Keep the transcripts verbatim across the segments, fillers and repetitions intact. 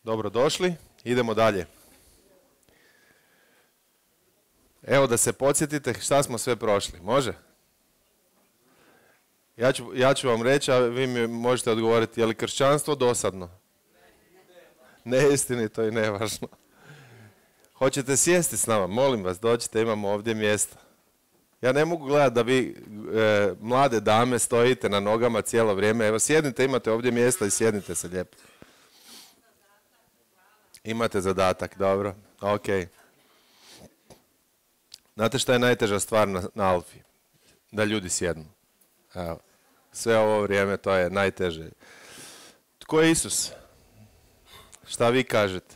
Dobrodošli, idemo dalje. Evo da se podsjetite šta smo sve prošli, može? Ja ću, ja ću vam reći, a vi mi možete odgovoriti, je li kršćanstvo dosadno? Neistinito i nevažno. Hoćete sjesti s nama? Molim vas, dođite, imamo ovdje mjesta. Ja ne mogu gledati da vi, e, mlade dame, stojite na nogama cijelo vrijeme. Evo, sjednite, imate ovdje mjesta i sjednite se lijepo. Imate zadatak, dobro, ok. Znate šta je najteža stvar na, na Alfi? Da ljudi sjednu. Evo, sve ovo vrijeme to je najteže. Tko je Isus? Šta vi kažete?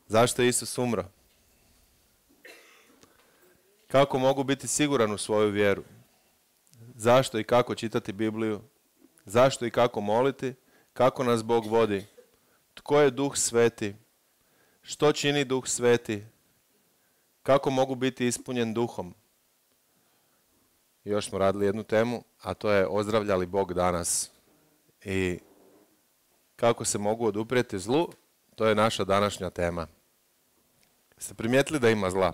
Zašto je Isus umro? Kako mogu biti siguran u svoju vjeru? Zašto i kako čitati Bibliju? Zašto i kako moliti? Kako nas Bog vodi? Tko je Duh Sveti? Što čini Duh Sveti? Kako mogu biti ispunjen Duhom? Još smo radili jednu temu, a to je ozdravlja li Bog danas? I kako se mogu oduprijeti zlu? To je naša današnja tema. Ste primijetili da ima zla?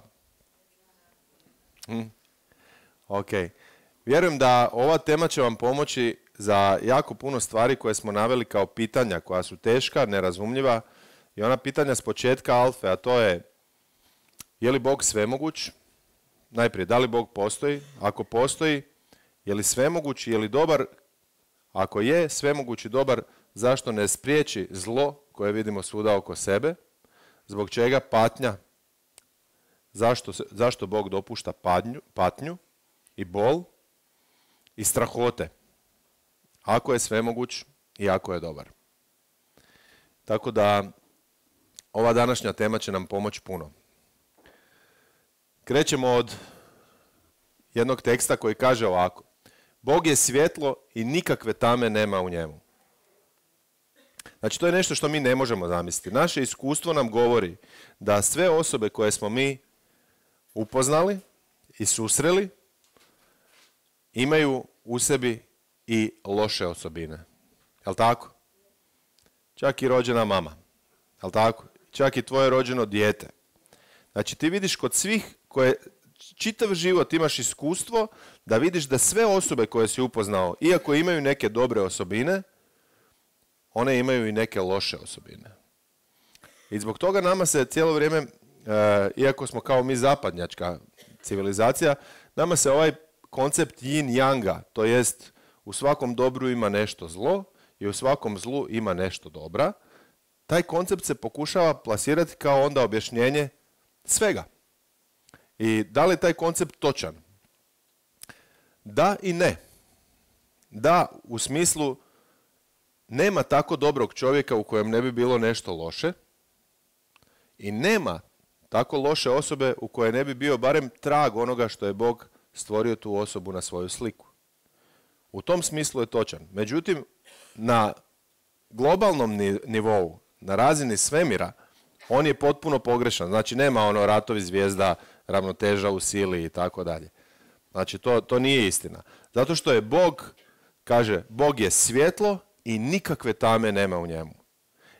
Hm? Ok. Vjerujem da ova tema će vam pomoći za jako puno stvari koje smo naveli kao pitanja, koja su teška, nerazumljiva. I ona pitanja s početka Alfe, a to je: je li Bog svemoguć? Najprije, da li Bog postoji? Ako postoji, je li svemoguć, je li dobar? Ako je svemoguć i dobar, zašto ne spriječi zlo koje vidimo svuda oko sebe? Zbog čega patnja? Zašto, zašto Bog dopušta patnju, patnju i bol i strahote? Ako je svemoguć i ako je dobar. Tako da ova današnja tema će nam pomoći puno. Krećemo od jednog teksta koji kaže ovako: Bog je svjetlo i nikakve tame nema u njemu. Znači, to je nešto što mi ne možemo zamisliti. Naše iskustvo nam govori da sve osobe koje smo mi upoznali i susreli imaju u sebi i loše osobine. Jel' tako? Čak i rođena mama. Jel' tako? Čak i tvoje rođeno dijete. Znači, ti vidiš kod svih koje čitav život imaš iskustvo da vidiš da sve osobe koje si upoznao, iako imaju neke dobre osobine, one imaju i neke loše osobine. I zbog toga nama se cijelo vrijeme, e, iako smo kao mi zapadnjačka civilizacija, nama se ovaj koncept yin-yanga, to jest u svakom dobru ima nešto zlo i u svakom zlu ima nešto dobra, taj koncept se pokušava plasirati kao onda objašnjenje svega. I da li je taj koncept točan? Da i ne. Da, u smislu nema tako dobrog čovjeka u kojem ne bi bilo nešto loše i nema tako loše osobe u kojoj ne bi bio barem trag onoga što je Bog stvorio tu osobu na svoju sliku. U tom smislu je točan. Međutim, na globalnom nivou, na razini svemira, on je potpuno pogrešan. Znači, nema ono ratovi zvijezda, ravnoteža u sili i tako dalje. Znači, to, to nije istina. Zato što je Bog, kaže, Bog je svjetlo i nikakve tame nema u njemu.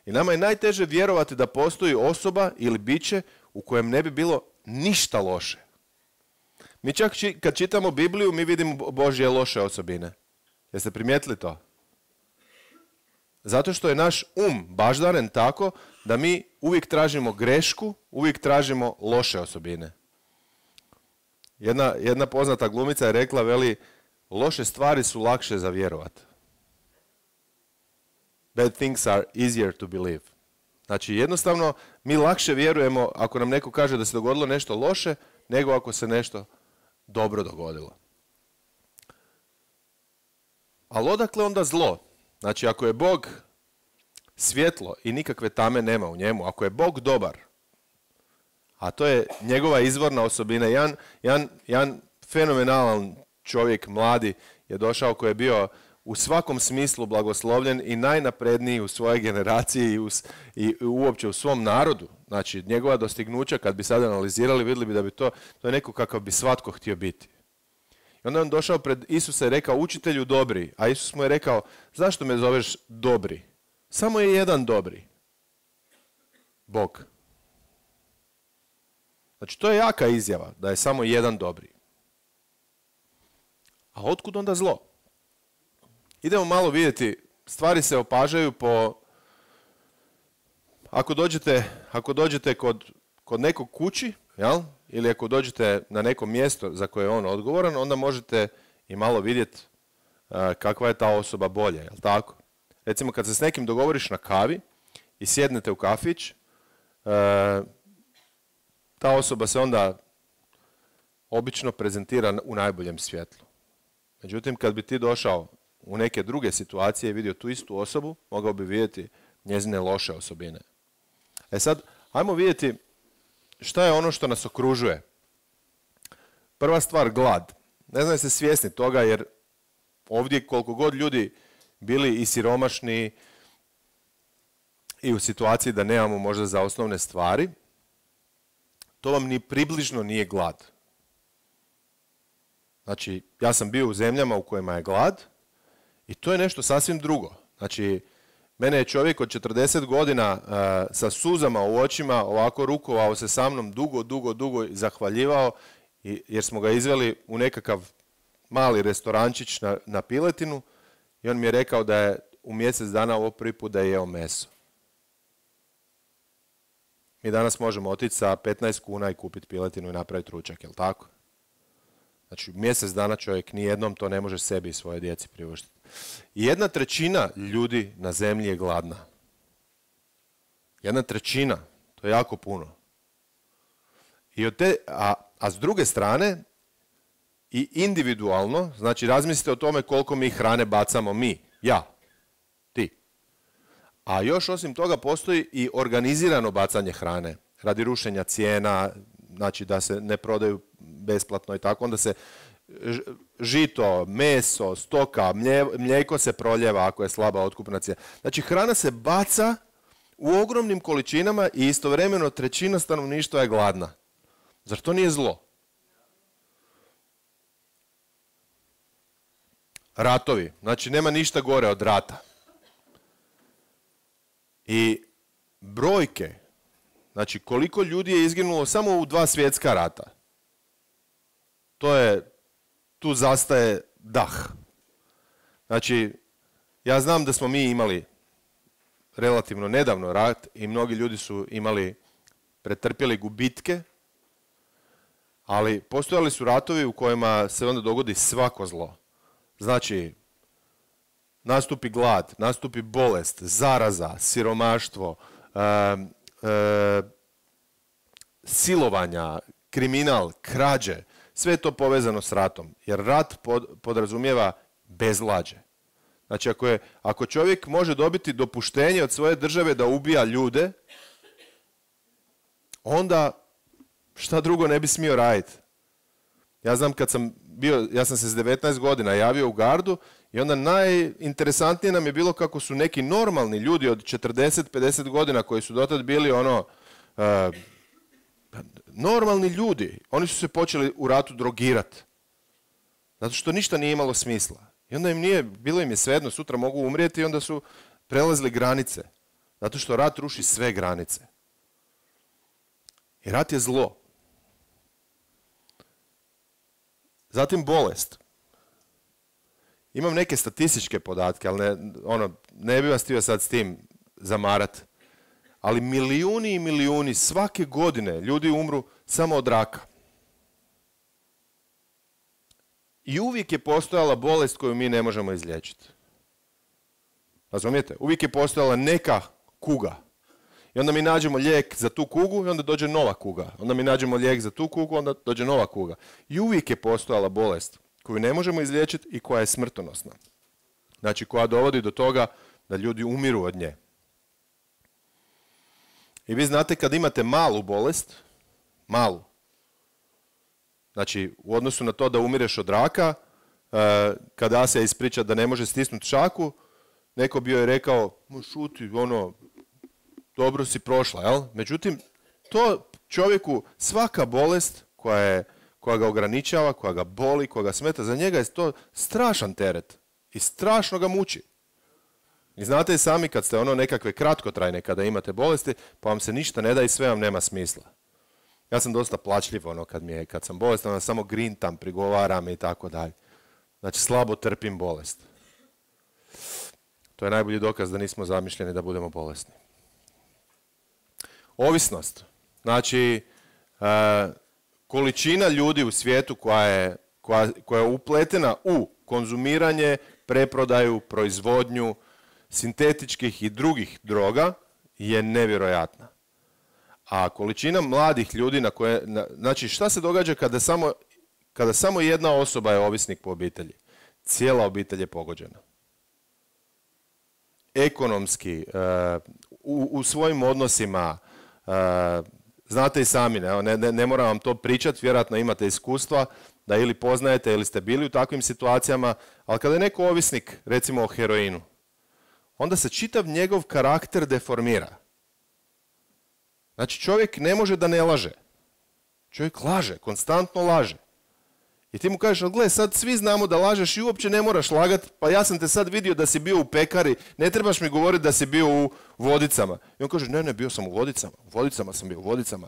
I nama je najteže vjerovati da postoji osoba ili biće u kojem ne bi bilo ništa loše. Mi čak či, kad čitamo Bibliju, mi vidimo Božje loše osobine. Jeste primijetili to? Zato što je naš um baždaren tako da mi uvijek tražimo grešku, uvijek tražimo loše osobine. Jedna, jedna poznata glumica je rekla, veli, loše stvari su lakše za vjerovat. Bad things are easier to believe. Znači, jednostavno, mi lakše vjerujemo ako nam neko kaže da se dogodilo nešto loše, nego ako se nešto dobro dogodilo. Ali odakle onda zlo? Znači, ako je Bog svjetlo i nikakve tame nema u njemu, ako je Bog dobar, a to je njegova izvorna osobina, jedan, jedan, jedan fenomenalan čovjek, mladi, je došao koji je bio u svakom smislu blagoslovljen i najnapredniji u svojoj generaciji i, u, i uopće u svom narodu. Znači, njegova dostignuća, kad bi sad analizirali, vidjeli bi da bi to, to je neko kakav bi svatko htio biti. I onda je on došao pred Isusa i rekao, učitelju dobri, a Isus mu je rekao, zašto me zoveš dobri? Samo je jedan dobri. Bog. Znači, to je jaka izjava, da je samo jedan dobri. A otkud onda zlo? Idemo malo vidjeti, stvari se opažaju po... Ako dođete, ako dođete kod, kod nekog kući, jel? Ili ako dođete na neko mjesto za koje je on odgovoran, onda možete i malo vidjeti uh, kakva je ta osoba bolje, jel tako? Recimo, kad se s nekim dogovoriš na kavi i sjednete u kafić, uh, ta osoba se onda obično prezentira u najboljem svjetlu. Međutim, kad bi ti došao u neke druge situacije i vidio tu istu osobu, mogao bi vidjeti njezine loše osobine. E sad, ajmo vidjeti šta je ono što nas okružuje. Prva stvar, glad. Ne znam jeste svjesni toga, jer ovdje koliko god ljudi bili i siromašni i u situaciji da nemamo možda za osnovne stvari, to vam ni približno nije glad. Znači, ja sam bio u zemljama u kojima je glad i to je nešto sasvim drugo. Znači, mene je čovjek od četrdeset godina uh, sa suzama u očima ovako rukovao se sa mnom dugo, dugo, dugo i zahvaljivao i, jer smo ga izveli u nekakav mali restorančić na, na piletinu i on mi je rekao da je u mjesec dana ovo prvi put da je jeo meso. Mi danas možemo otići sa petnaest kuna i kupiti piletinu i napraviti ručak, jel tako? Znači, mjesec dana čovjek nijednom to ne može sebi i svoje djeci priuštiti. I jedna trećina ljudi na zemlji je gladna. Jedna trećina, to je jako puno. I od te, a, a s druge strane, i individualno, znači razmislite o tome koliko mi hrane bacamo mi, ja, ti. A još osim toga postoji i organizirano bacanje hrane, radi rušenja cijena, znači da se ne prodaju besplatno i tako, onda se žito, meso, stoka, mlijeko se proljeva ako je slaba otkupna cijena. Znači hrana se baca u ogromnim količinama i istovremeno trećina stanovništva je gladna. Zar to nije zlo? Ratovi. Znači nema ništa gore od rata. I brojke, znači koliko ljudi je izginulo samo u dva svjetska rata. To je, tu zastaje dah. Znači, ja znam da smo mi imali relativno nedavno rat i mnogi ljudi su imali, pretrpjeli gubitke, ali postojali su ratovi u kojima se onda dogodi svako zlo. Znači, nastupi glad, nastupi bolest, zaraza, siromaštvo, e, e, silovanja, kriminal, krađe, sve je to povezano s ratom, jer rat pod, podrazumijeva bezvlađe. Znači, ako, je, ako čovjek može dobiti dopuštenje od svoje države da ubija ljude, onda šta drugo ne bi smio raditi. Ja znam kad sam bio, ja sam se s devetnaest godina javio u gardu i onda najinteresantnije nam je bilo kako su neki normalni ljudi od četrdeset do pedeset godina koji su dotad bili ono... Uh, normalni ljudi, oni su se počeli u ratu drogirati. Zato što ništa nije imalo smisla. I onda im nije, bilo im je svejedno, sutra mogu umrijeti i onda su prelazili granice. Zato što rat ruši sve granice. I rat je zlo. Zatim bolest. Imam neke statističke podatke, ali ne, ono, ne bih vas htio sad s tim zamarat. Ali milijuni i milijuni svake godine ljudi umru samo od raka. I uvijek je postojala bolest koju mi ne možemo izliječiti. Razumijete? Uvijek je postojala neka kuga. I onda mi nađemo lijek za tu kugu i onda dođe nova kuga. Onda mi nađemo lijek za tu kugu, onda dođe nova kuga. I uvijek je postojala bolest koju ne možemo izliječiti i koja je smrtonosna. Znači koja dovodi do toga da ljudi umiru od nje. I vi znate kad imate malu bolest, malu, znači u odnosu na to da umireš od raka, kada se ispriča da ne može stisnuti šaku, neko bi joj rekao, šuti, ono, dobro si prošla, jel? Međutim, to čovjeku, svaka bolest koja, je, koja ga ograničava, koja ga boli, koja ga smeta, za njega je to strašan teret i strašno ga muči. I znate i sami kad ste ono nekakve kratkotrajne, kada imate bolesti, pa vam se ništa ne da i sve vam nema smisla. Ja sam dosta plačljiv ono kad, mi je, kad sam bolestan, onda samo grintam, prigovaram i tako dalje. Znači slabo trpim bolest. To je najbolji dokaz da nismo zamišljeni da budemo bolesni. Ovisnost. Znači, e, količina ljudi u svijetu koja je, koja, koja je upletena u konzumiranje, preprodaju, proizvodnju sintetičkih i drugih droga je nevjerojatna. A količina mladih ljudi na koje... Na, znači, šta se događa kada samo, kada samo jedna osoba je ovisnik po obitelji? Cijela obitelj je pogođena. Ekonomski, uh, u, u svojim odnosima, uh, znate i sami, ne, ne, ne moram vam to pričati, vjerojatno imate iskustva da ili poznajete ili ste bili u takvim situacijama, ali kada je neko ovisnik, recimo o heroinu, onda se čitav njegov karakter deformira. Znači čovjek ne može da ne laže. Čovjek laže, konstantno laže. I ti mu kažeš, ali gle, sad svi znamo da lažeš i uopće ne moraš lagat, pa ja sam te sad vidio da si bio u pekari, ne trebaš mi govoriti da si bio u Vodicama. I on kaže, ne, ne, bio sam u Vodicama, u Vodicama sam bio, u Vodicama.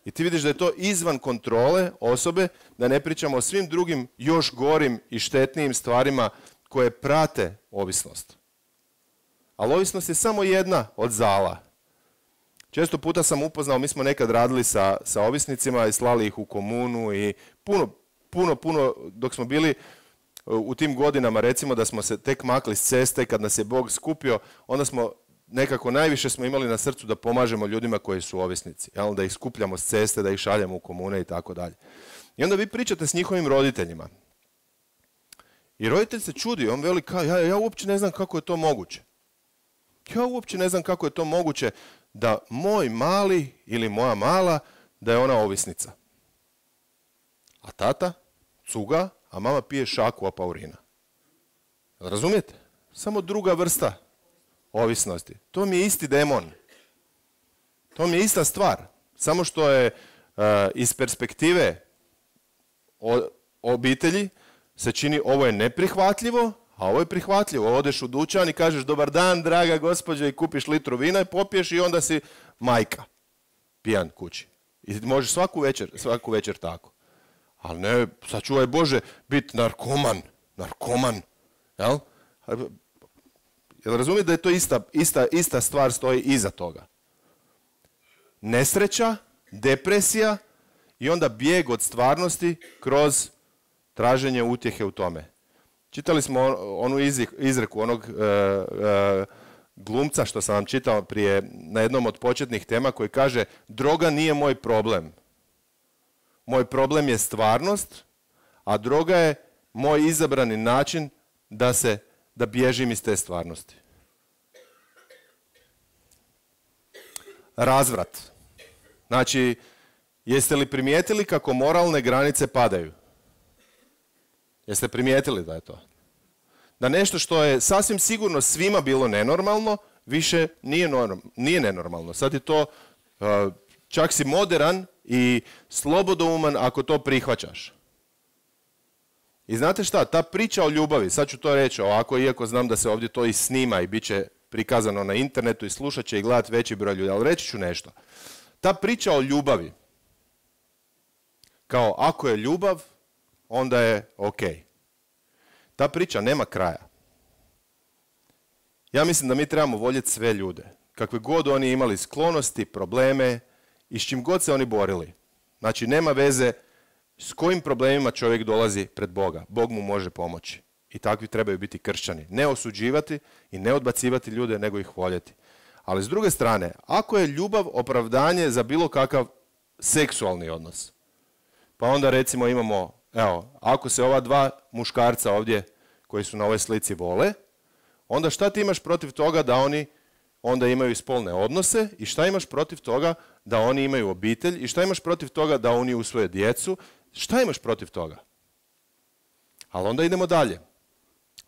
I ti vidiš da je to izvan kontrole osobe, da ne pričamo o svim drugim još gorim i štetnijim stvarima koje prate ovisnost. Ali ovisnost je samo jedna od zala. Često puta sam upoznao, mi smo nekad radili sa, sa ovisnicima i slali ih u komunu i puno, puno, puno, dok smo bili u tim godinama, recimo da smo se tek makli s ceste, kad nas je Bog skupio, onda smo nekako najviše smo imali na srcu da pomažemo ljudima koji su ovisnici, jel? Da ih skupljamo s ceste, da ih šaljemo u komune i tako dalje. I onda vi pričate s njihovim roditeljima. I roditelj se čudi, on veli, ka, ja, ja uopće ne znam kako je to moguće. Ja uopće ne znam kako je to moguće da moj mali ili moja mala, da je ona ovisnica. A tata cuga, a mama pije šaku apaurina. Razumijete? Samo druga vrsta ovisnosti. To mi je isti demon. To mi je ista stvar. Samo što je uh, iz perspektive o, obitelji se čini ovo je neprihvatljivo, a ovo je prihvatljivo. Odeš u dućan i kažeš dobar dan, draga gospođa, i kupiš litru vina i popiješ i onda si majka. Pijan kući. I možeš svaku večer, svaku večer tako. Ali ne, sačuvaj Bože, biti narkoman. Narkoman. Jel? Jel razumijete da je to ista, ista, ista stvar stoji iza toga? Nesreća, depresija i onda bijeg od stvarnosti kroz traženje utjehe u tome. Čitali smo onu izreku onog uh, uh, glumca što sam vam čitao prije na jednom od početnih tema koji kaže droga nije moj problem. Moj problem je stvarnost, a droga je moj izabrani način da se da bježim iz te stvarnosti. Razvrat. Znači, jeste li primijetili kako moralne granice padaju? Jeste primijetili da je to? Da nešto što je sasvim sigurno svima bilo nenormalno, više nije, norm, nije nenormalno. Sad je to, uh, čak si moderan i slobodouman ako to prihvaćaš. I znate šta, ta priča o ljubavi, sad ću to reći ovako, iako znam da se ovdje to i snima i bit će prikazano na internetu i slušat će i gledat veći broj ljudi, ali reći ću nešto. Ta priča o ljubavi, kao ako je ljubav, onda je ok. Ta priča nema kraja. Ja mislim da mi trebamo voljeti sve ljude, kakve god oni imali sklonosti, probleme i s čim god se oni borili. Znači, nema veze s kojim problemima čovjek dolazi pred Boga. Bog mu može pomoći. I takvi trebaju biti kršćani. Ne osuđivati i ne odbacivati ljude, nego ih voljeti. Ali s druge strane, ako je ljubav opravdanje za bilo kakav seksualni odnos, pa onda recimo imamo, evo, ako se ova dva muškarca ovdje koji su na ovoj slici vole, onda šta ti imaš protiv toga da oni onda imaju spolne odnose i šta imaš protiv toga da oni imaju obitelj i šta imaš protiv toga da oni usvoje djecu, šta imaš protiv toga? Ali onda idemo dalje.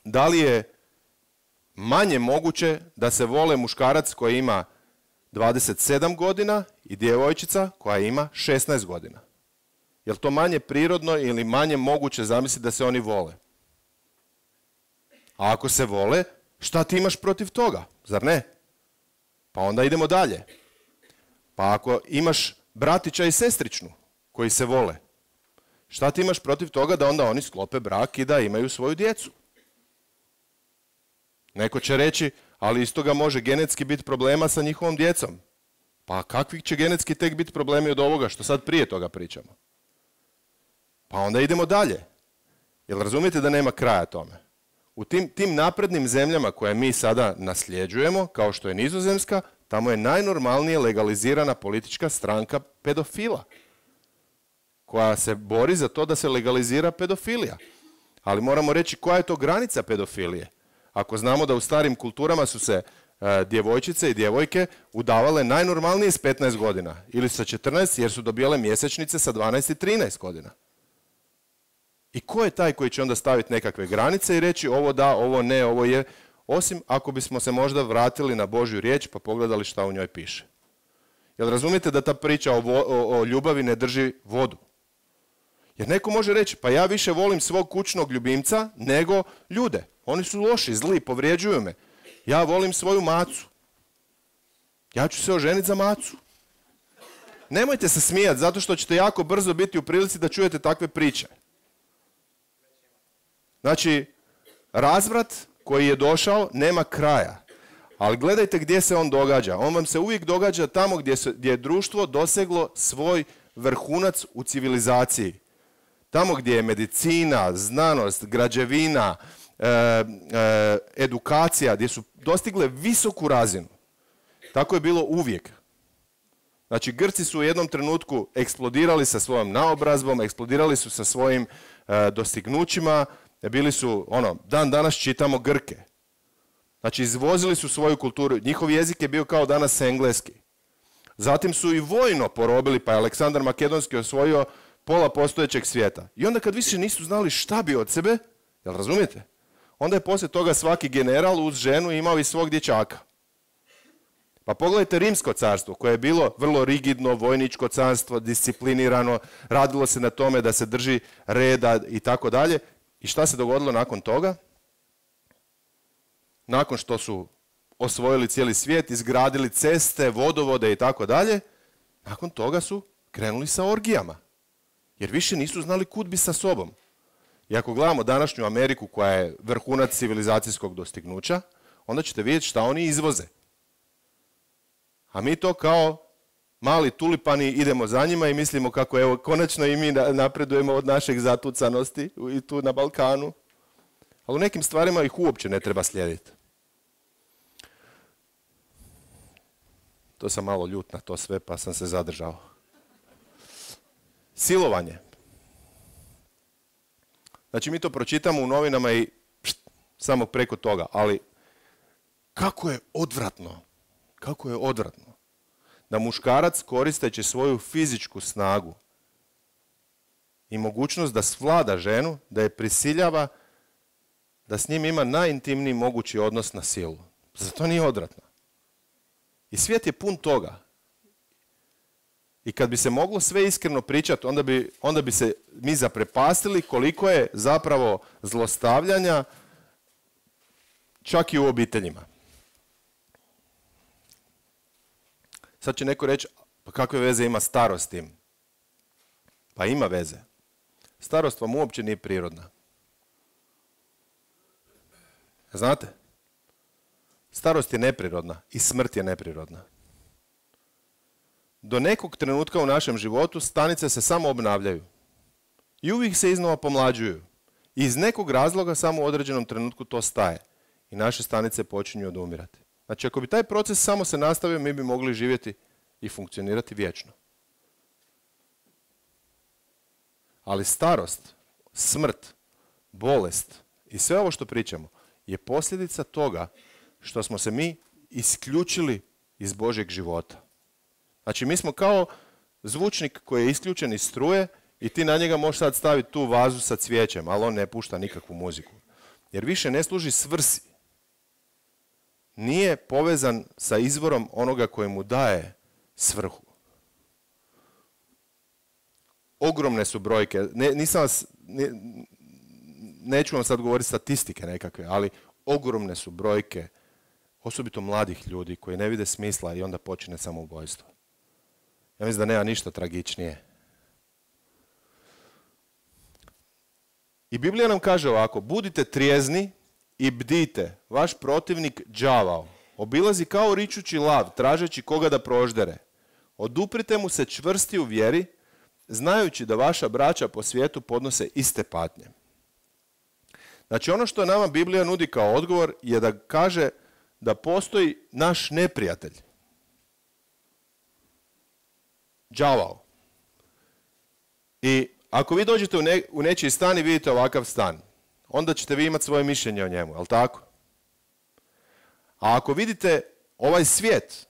Da li je manje moguće da se vole muškarac koji ima dvadeset sedam godina i djevojčica koja ima šesnaest godina? Je li to manje prirodno ili manje moguće zamisliti da se oni vole? A ako se vole, Šta ti imaš protiv toga, zar ne? Pa onda idemo dalje. Pa ako imaš bratića i sestričnu koji se vole, šta ti imaš protiv toga da onda oni sklope brak i da imaju svoju djecu? Neko će reći, ali iz toga može genetski biti problema sa njihovom djecom. Pa kakvi će genetski tek biti problemi od ovoga što sad prije toga pričamo? Pa onda idemo dalje. Jel razumijete da nema kraja tome? U tim, tim naprednim zemljama koje mi sada nasljeđujemo, kao što je Nizozemska, tamo je najnormalnije legalizirana politička stranka pedofila, koja se bori za to da se legalizira pedofilija. Ali moramo reći koja je to granica pedofilije. Ako znamo da u starim kulturama su se e, djevojčice i djevojke udavale najnormalnije s petnaest godina ili sa četrnaest jer su dobijale mjesečnice sa dvanaest i trinaest godina. I ko je taj koji će onda staviti nekakve granice i reći ovo da, ovo ne, ovo je, osim ako bismo se možda vratili na Božju riječ pa pogledali šta u njoj piše. Jel razumijete da ta priča o, vo, o, o ljubavi ne drži vodu? Jer neko može reći, pa ja više volim svog kućnog ljubimca nego ljude. Oni su loši, zli, povrijeđuju me. Ja volim svoju macu. Ja ću se oženiti za macu. Nemojte se smijati, zato što ćete jako brzo biti u prilici da čujete takve priče. Znači, razvrat koji je došao nema kraja. Ali gledajte gdje se on događa. On vam se uvijek događa tamo gdje, se, gdje je društvo doseglo svoj vrhunac u civilizaciji. Tamo gdje je medicina, znanost, građevina, e, e, edukacija, gdje su dostigle visoku razinu. Tako je bilo uvijek. Znači, Grci su u jednom trenutku eksplodirali sa svojom naobrazbom, eksplodirali su sa svojim e, dostignućima, bili su, ono, dan danas čitamo Grke. Znači, izvozili su svoju kulturu, njihov jezik je bio kao danas engleski. Zatim su i vojno porobili, pa je Aleksandar Makedonski osvojio pola postojećeg svijeta. I onda kad više nisu znali šta bi od sebe, jel razumijete? Onda je poslije toga svaki general uz ženu imao i svog dječaka. Pa pogledajte Rimsko carstvo, koje je bilo vrlo rigidno, vojničko carstvo, disciplinirano, radilo se na tome da se drži reda i tako dalje. I šta se dogodilo nakon toga? Nakon što su osvojili cijeli svijet, izgradili ceste, vodovode i tako dalje, nakon toga su krenuli sa orgijama. Jer više nisu znali kud bi sa sobom. I ako gledamo današnju Ameriku koja je vrhunac civilizacijskog dostignuća, onda ćete vidjeti šta oni izvoze. A mi to kao mali tulipani idemo za njima i mislimo kako evo konačno i mi napredujemo od našeg zatucanosti i tu na Balkanu. Ali u nekim stvarima ih uopće ne treba slijediti. To sam malo ljut na to sve pa sam se zadržao. Silovanje. Znači mi to pročitamo u novinama i pšt, samo preko toga, ali kako je odvratno, kako je odvratno da muškarac koristeći svoju fizičku snagu i mogućnost da svlada ženu, da je prisiljava da s njim ima najintimniji mogući odnos na silu. Zar to nije odvratno? I svijet je pun toga. I kad bi se moglo sve iskreno pričati, onda bi, onda bi se mi zaprepastili koliko je zapravo zlostavljanja čak i u obiteljima. Sad će neko reći, pa kakve veze ima starost s tim? Pa ima veze. Starost vam uopće nije prirodna. Znate? Starost je neprirodna i smrt je neprirodna. Do nekog trenutka u našem životu stanice se samo obnavljaju. I uvijek se iznova pomlađuju. I iz nekog razloga samo u određenom trenutku to staje. I naše stanice počinju odumirati. Znači, ako bi taj proces samo se nastavio, mi bi mogli živjeti i funkcionirati vječno. Ali starost, smrt, bolest i sve ovo što pričamo je posljedica toga što smo se mi isključili iz Božjeg života. Znači, mi smo kao zvučnik koji je isključen iz struje i ti na njega možeš sad staviti tu vazu sa cvijećem, ali on ne pušta nikakvu muziku. Jer više ne služi svrsi. Nije povezan sa izvorom onoga koji mu daje svrhu. Ogromne su brojke. Ne, nisam vas, ne, neću vam sad govoriti statistike nekakve, ali ogromne su brojke, osobito mladih ljudi koji ne vide smisla i onda počine samoubojstvo. Ja mislim da nema ništa tragičnije. I Biblija nam kaže ovako, budite trijezni i bdite, vaš protivnik đavao obilazi kao ričući lav, tražeći koga da proždere. Oduprite mu se čvrsti u vjeri, znajući da vaša braća po svijetu podnose iste patnje. Znači ono što nama Biblija nudi kao odgovor je da kaže da postoji naš neprijatelj. Đavao. I ako vi dođete u, ne, u nečiji stan i vidite ovakav stan, onda ćete vi imati svoje mišljenje o njemu, jel tako? A ako vidite ovaj svijet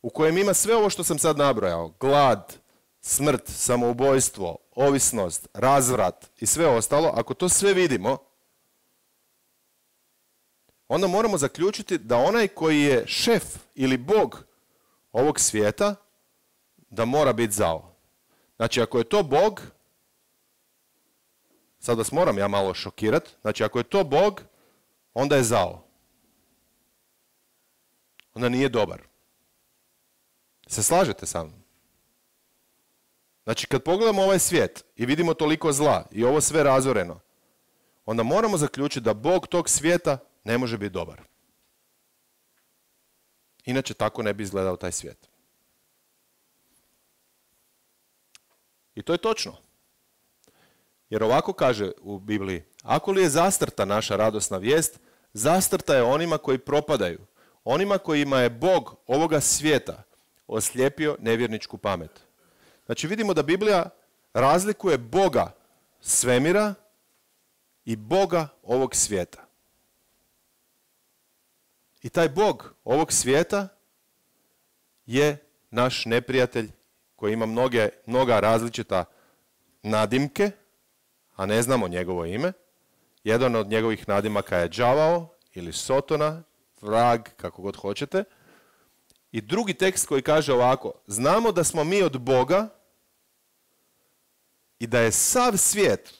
u kojem ima sve ovo što sam sad nabrojao, glad, smrt, samoubojstvo, ovisnost, razvrat i sve ostalo, ako to sve vidimo, onda moramo zaključiti da onaj koji je šef ili bog ovog svijeta, da mora biti zao. Znači, ako je to Bog, sad vas moram ja malo šokirati, znači ako je to Bog, onda je zao. Onda nije dobar. Se slažete sa mnom? Znači, kad pogledamo ovaj svijet i vidimo toliko zla i ovo sve razoreno, onda moramo zaključiti da Bog tog svijeta ne može biti dobar. Inače, tako ne bi izgledao taj svijet. I to je točno. Jer ovako kaže u Bibliji, ako li je zastrta naša radosna vijest, zastrta je onima koji propadaju, onima kojima je Bog ovoga svijeta oslijepio nevjerničku pamet. Znači vidimo da Biblija razlikuje Boga svemira i Boga ovog svijeta. I taj Bog ovog svijeta je naš neprijatelj koji ima mnoge, mnoga različita nadimke, a ne znamo njegovo ime. Jedan od njegovih nadimaka je đavao ili sotona, vrag, kako god hoćete. I drugi tekst koji kaže ovako, znamo da smo mi od Boga i da je sav svijet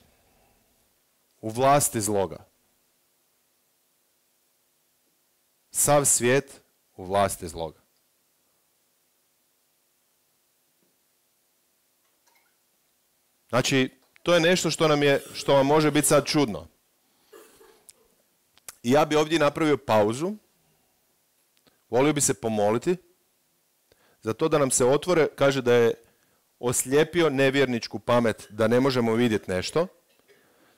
u vlasti zloga. Sav svijet u vlasti zloga. Znači, to je nešto što nam je, što vam može biti sad čudno. I ja bi ovdje napravio pauzu. Volio bi se pomoliti za to da nam se otvore, kaže da je oslijepio nevjerničku pamet, da ne možemo vidjeti nešto.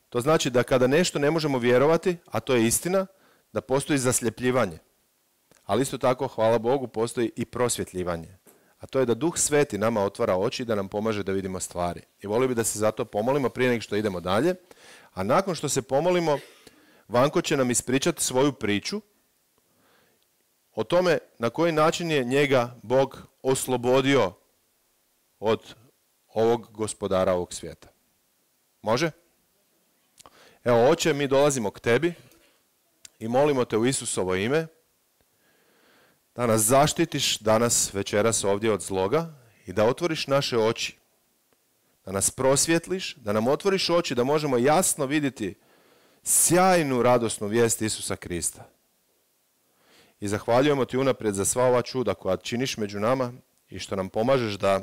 To znači da kada nešto ne možemo vjerovati, a to je istina, da postoji zasljepljivanje. Ali isto tako, hvala Bogu, postoji i prosvjetljivanje. A to je da Duh Sveti nama otvara oči i da nam pomaže da vidimo stvari. I volio bi da se zato pomolimo prije nego što idemo dalje. A nakon što se pomolimo, Vanko će nam ispričati svoju priču o tome na koji način je njega Bog oslobodio od ovog gospodara ovog svijeta. Može? Evo, Oče, mi dolazimo k tebi i molimo te u Isusovo ime da nas zaštitiš danas večeras ovdje od zloga i da otvoriš naše oči, da nas prosvjetliš, da nam otvoriš oči, da možemo jasno vidjeti sjajnu radosnu vijest Isusa Krista. I zahvaljujemo ti unaprijed za sva ova čuda koja činiš među nama i što nam pomažeš da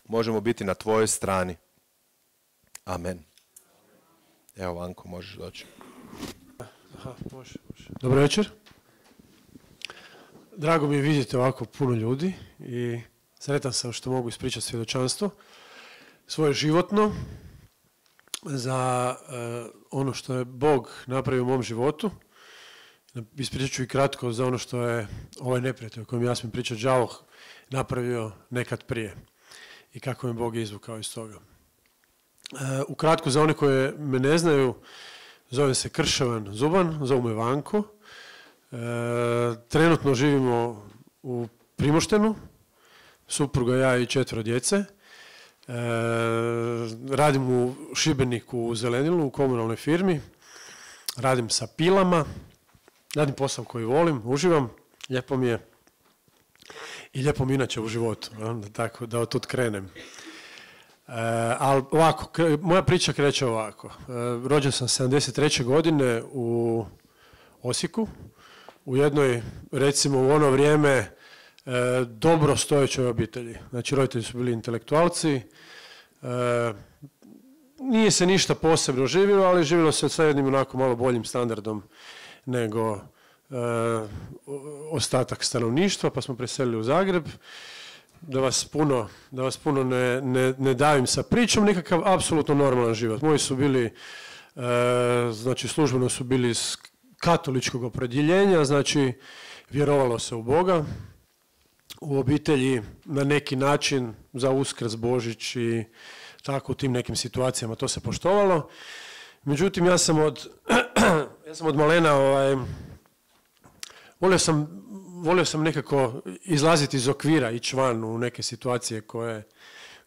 možemo biti na tvojoj strani. Amen. Evo, Vanko, možeš doći. Aha, može, može. Dobro večer. Drago mi je vidjeti ovako puno ljudi i sretan sam što mogu ispričati svjedočanstvo svoje životno za uh, ono što je Bog napravio u mom životu. Ispričat ću i kratko za ono što je ovaj neprijatelj o kojem ja smijem pričati, đavo, napravio nekad prije i kako me Bog izvukao iz toga. Uh, ukratko za one koje me ne znaju, zovem se Krševan Zuban, zovu me Vanko. Uh, trenutno živimo u Primoštenu, supruga, ja i četvero djece. Uh, radim u Šibeniku u Zelenilu, u komunalnoj firmi. Radim sa pilama. Radim posao koji volim, uživam, lijepo mi je i lijepo mi inače u životu, da, tako, da od tud krenem. E, ali ovako, moja priča kreće ovako. E, rođen sam sedamdeset treće godine u Osijeku, u jednoj, recimo u ono vrijeme, e, dobro stojećoj obitelji. Znači, roditelji su bili intelektualci, e, nije se ništa posebno živjelo, ali živjelo se sa jednim onako malo boljim standardom nego e, ostatak stanovništva, pa smo preselili u Zagreb. Da vas puno, da vas puno ne, ne, ne davim sa pričom, nekakav apsolutno normalan život. Moji su bili, e, znači službeno su bili iz katoličkog opredjeljenja, znači vjerovalo se u Boga, u obitelji na neki način za Uskrs, Božić i tako u tim nekim situacijama to se poštovalo. Međutim, ja sam od, ja sam od malena, ovaj, volio sam, volio sam nekako izlaziti iz okvira, ići van u neke situacije koje,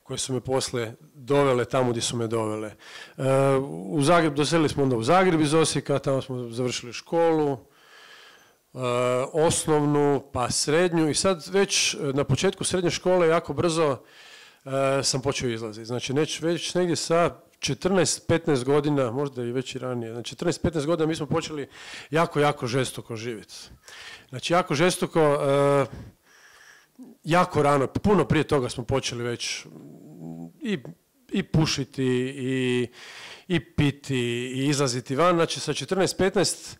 koje su me poslije dovele tamo gdje su me dovele. E, u Zagreb, doselili smo onda u Zagreb iz Osijeka, tamo smo završili školu, e, osnovnu, pa srednju i sad već na početku srednje škole jako brzo e, sam počeo izlaziti. Znači neć, već negdje sa četrnaest petnaest godina, možda i već i ranije, znači četrnaest petnaest godina mi smo počeli jako, jako žestoko živjeti. Znači jako žestoko, e, jako rano, puno prije toga smo počeli već i, i pušiti i, i piti i izlaziti van. Znači sa četrnaest petnaest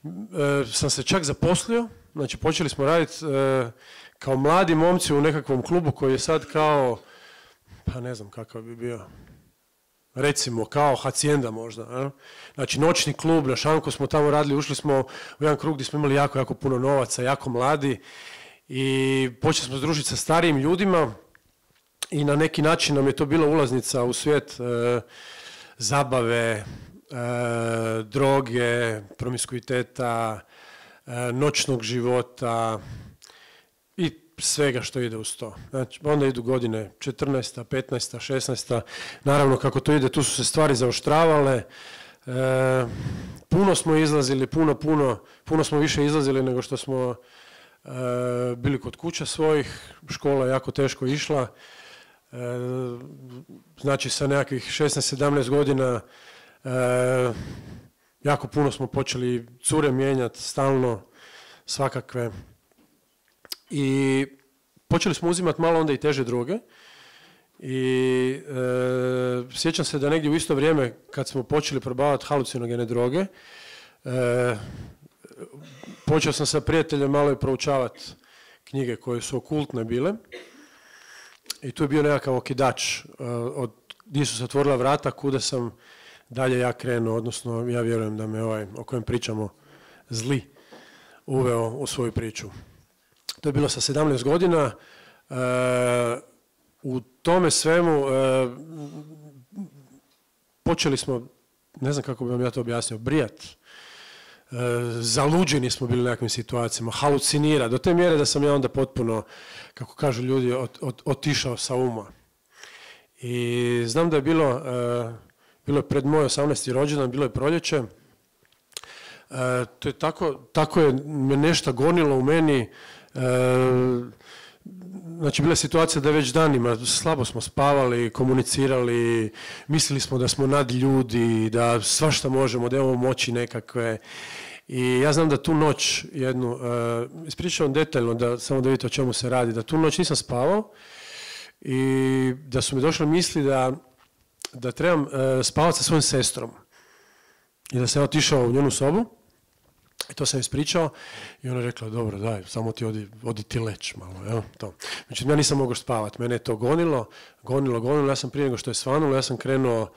e, sam se čak zaposlio, znači počeli smo raditi e, kao mladi momci u nekakvom klubu koji je sad kao, pa ne znam kakav bi bio, recimo kao Hacienda možda. Ne? Znači noćni klub, na šanku smo tamo radili, ušli smo u jedan krug gdje smo imali jako, jako puno novaca, jako mladi i počeli smo združiti sa starijim ljudima i na neki način nam je to bila ulaznica u svijet e, zabave, e, droge, promiskuiteta, e, noćnog života i svega što ide uz to. Znači, onda idu godine četrnaesta, petnaesta, šesnaesta. Naravno, kako to ide, tu su se stvari zaoštravale. E, puno smo izlazili, puno, puno, puno smo više izlazili nego što smo e, bili kod kuća svojih. Škola je jako teško išla. E, znači, sa nekakvih šesnaest sedamnaest godina e, jako puno smo počeli cure mijenjati, stalno, svakakve. I počeli smo uzimati malo onda i teže droge i e, sjećam se da negdje u isto vrijeme kad smo počeli probavati halucinogene droge, e, počeo sam sa prijateljem malo i proučavati knjige koje su okultne bile i tu je bio nekakav okidač e, od gdje su se otvorila vrata kuda sam dalje ja krenuo, odnosno ja vjerujem da me ovaj o kojem pričamo zli uveo u svoju priču. To je bilo sa sedamnaest godina. E, u tome svemu e, počeli smo, ne znam kako bi vam ja to objasnio, brijat. E, zaluđeni smo bili u nekakvim situacijama, halucinira, do te mjere da sam ja onda potpuno, kako kažu ljudi, ot, ot, otišao sa uma. I znam da je bilo, e, bilo je pred moj osamnaesti rođendan, bilo je proljeće. E, to je tako, tako je me nešto gonilo u meni. E, znači bila je situacija da već danima slabo smo spavali, komunicirali, mislili smo da smo nad ljudi, da svašta možemo, da imamo moći nekakve. I ja znam da tu noć jednu, e, ispričavam detaljno, da, samo da vidite o čemu se radi, da tu noć nisam spavao i da su mi došle misli da, da trebam e, spavati sa svojom sestrom i da sam otišao u njenu sobu. I to sam ispričao i ona je rekla, dobro, daj, samo ti odi, odi ti leć malo, jel, to. Međutim, ja nisam mogao spavati, mene je to gonilo, gonilo, gonilo, ja sam prije nego što je svanulo, ja sam krenuo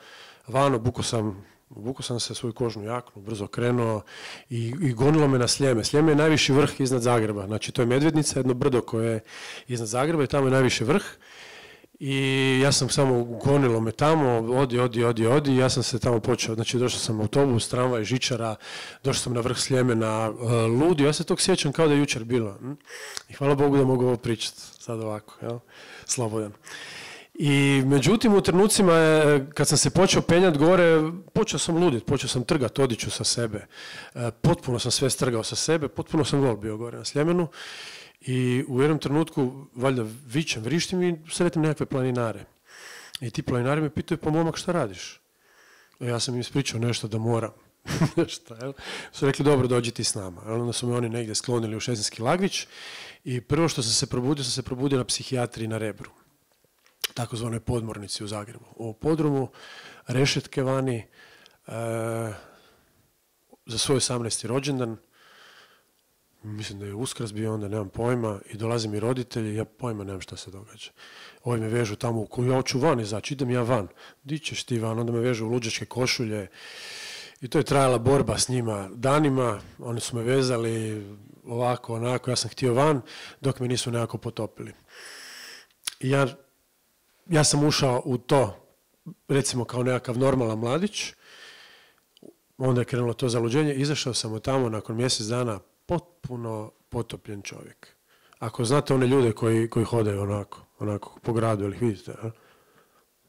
van, obukao sam, obukao sam se svoju kožnu jaknu, brzo krenuo i, i gonilo me na Sljeme. Sljeme je najviši vrh iznad Zagreba, znači to je Medvednica, jedno brdo koje je iznad Zagreba i tamo je najviši vrh. I ja sam samo gonilo me tamo, odi, odi, odi, odi, i ja sam se tamo počeo, znači došao sam autobus, tramvaj, žičara, došao sam na vrh Sljemena, uh, ludi, ja se tog sjećam kao da je jučer bilo. Hm? I hvala Bogu da mogu ovo pričati sad ovako, jel? Slobodan. I međutim u trenucima je, kad sam se počeo penjati gore, počeo sam luditi, počeo sam trgati odiću sa sebe. Uh, potpuno sam sve strgao sa sebe, potpuno sam gol bio gore na Sljemenu. I u jednom trenutku, valjda vičem, vrištim i sretim nekakve planinare. I ti planinari me pitaju, pa momak, šta radiš? E, ja sam im ispričao nešto da moram. Šta, jel? Su rekli, dobro, dođi ti s nama. Jel? Onda su me oni negdje sklonili u Šesenski Lagvić i prvo što sam se probudio, sam se probudio na psihijatriji na Rebru, takozvanoj podmornici u Zagrebu. U podrumu, rešetke vani, e, za svoj osamnaesti rođendan, mislim da je Uskrs bio, onda nemam pojma, i dolaze mi roditelji, ja pojma nemam šta se događa. Ovi me vežu tamo, u koju ja hoću van izaći, idem ja van. Di ćeš ti van? Onda me vežu u luđačke košulje. I to je trajala borba s njima danima. Oni su me vezali ovako, onako, ja sam htio van, dok me nisu nekako potopili. I ja, ja sam ušao u to, recimo kao nekakav normalan mladić, onda je krenulo to zaluđenje, izašao sam od tamo nakon mjesec dana potpuno potopljen čovjek. Ako znate one ljude koji, koji hodaju onako, onako po gradu, ili ih vidite, a?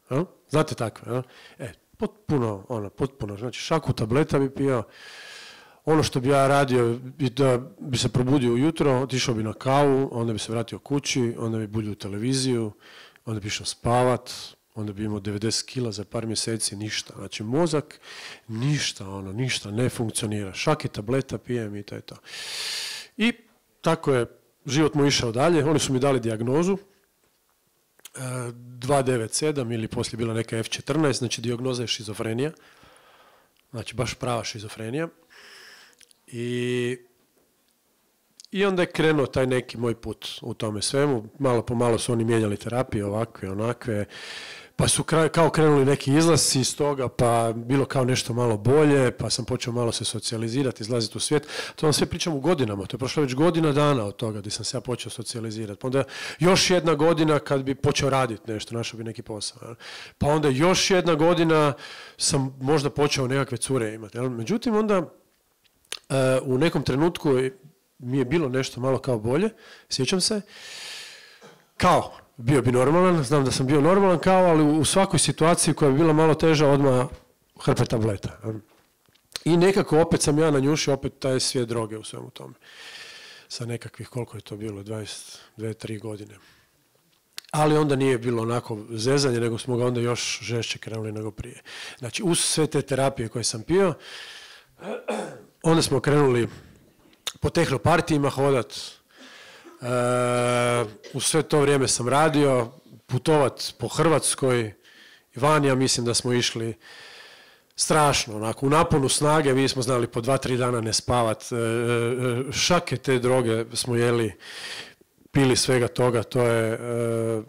A? Znate takve, a? E, potpuno, ono, potpuno, znači šaku tableta bi pio, ono što bi ja radio, da bi se probudio ujutro, otišao bi na kavu, onda bi se vratio kući, onda bi bulio televiziju, onda bi išao spavat, onda bi imao devedeset kila za par mjeseci, ništa. Znači mozak, ništa, ono, ništa, ne funkcionira. Šake tableta pijem i to je to. I tako je život mu išao dalje. Oni su mi dali dijagnozu dva devet sedam ili poslije bila neka F četrnaest, znači dijagnoza je šizofrenija. Znači baš prava šizofrenija. I, i onda je krenuo taj neki moj put u tome svemu. Malo po malo su oni mijenjali terapije, ovakve, onakve. Pa su kao krenuli neki izlasci iz toga, pa bilo kao nešto malo bolje, pa sam počeo malo se socijalizirati, izlaziti u svijet. To vam sve pričam u godinama, to je prošlo već godina dana od toga gdje sam se ja počeo socijalizirati. Pa onda još jedna godina kad bi počeo raditi nešto, našao bi neki posao. Pa onda još jedna godina sam možda počeo nekakve cure imati. Međutim, onda u nekom trenutku mi je bilo nešto malo kao bolje, sjećam se, kao bio bi normalan, znam da sam bio normalan kao, ali u svakoj situaciji koja bi bila malo teža, odmah hrpe tableta. I nekako opet sam ja nanjušio opet taj svijet droge u svemu tome. Sa nekakvih, koliko je to bilo, dvadeset dvije tri godine. Ali onda nije bilo onako zezanje, nego smo ga onda još žešće krenuli nego prije. Znači, uz sve te terapije koje sam pio, onda smo krenuli po tehnopartijima hodat. Uh, u sve to vrijeme sam radio, putovat po Hrvatskoj, van, ja mislim da smo išli strašno, onako, u naponu snage, mi smo znali po dva, tri dana ne spavat, uh, šake te droge smo jeli, pili svega toga, to je, uh,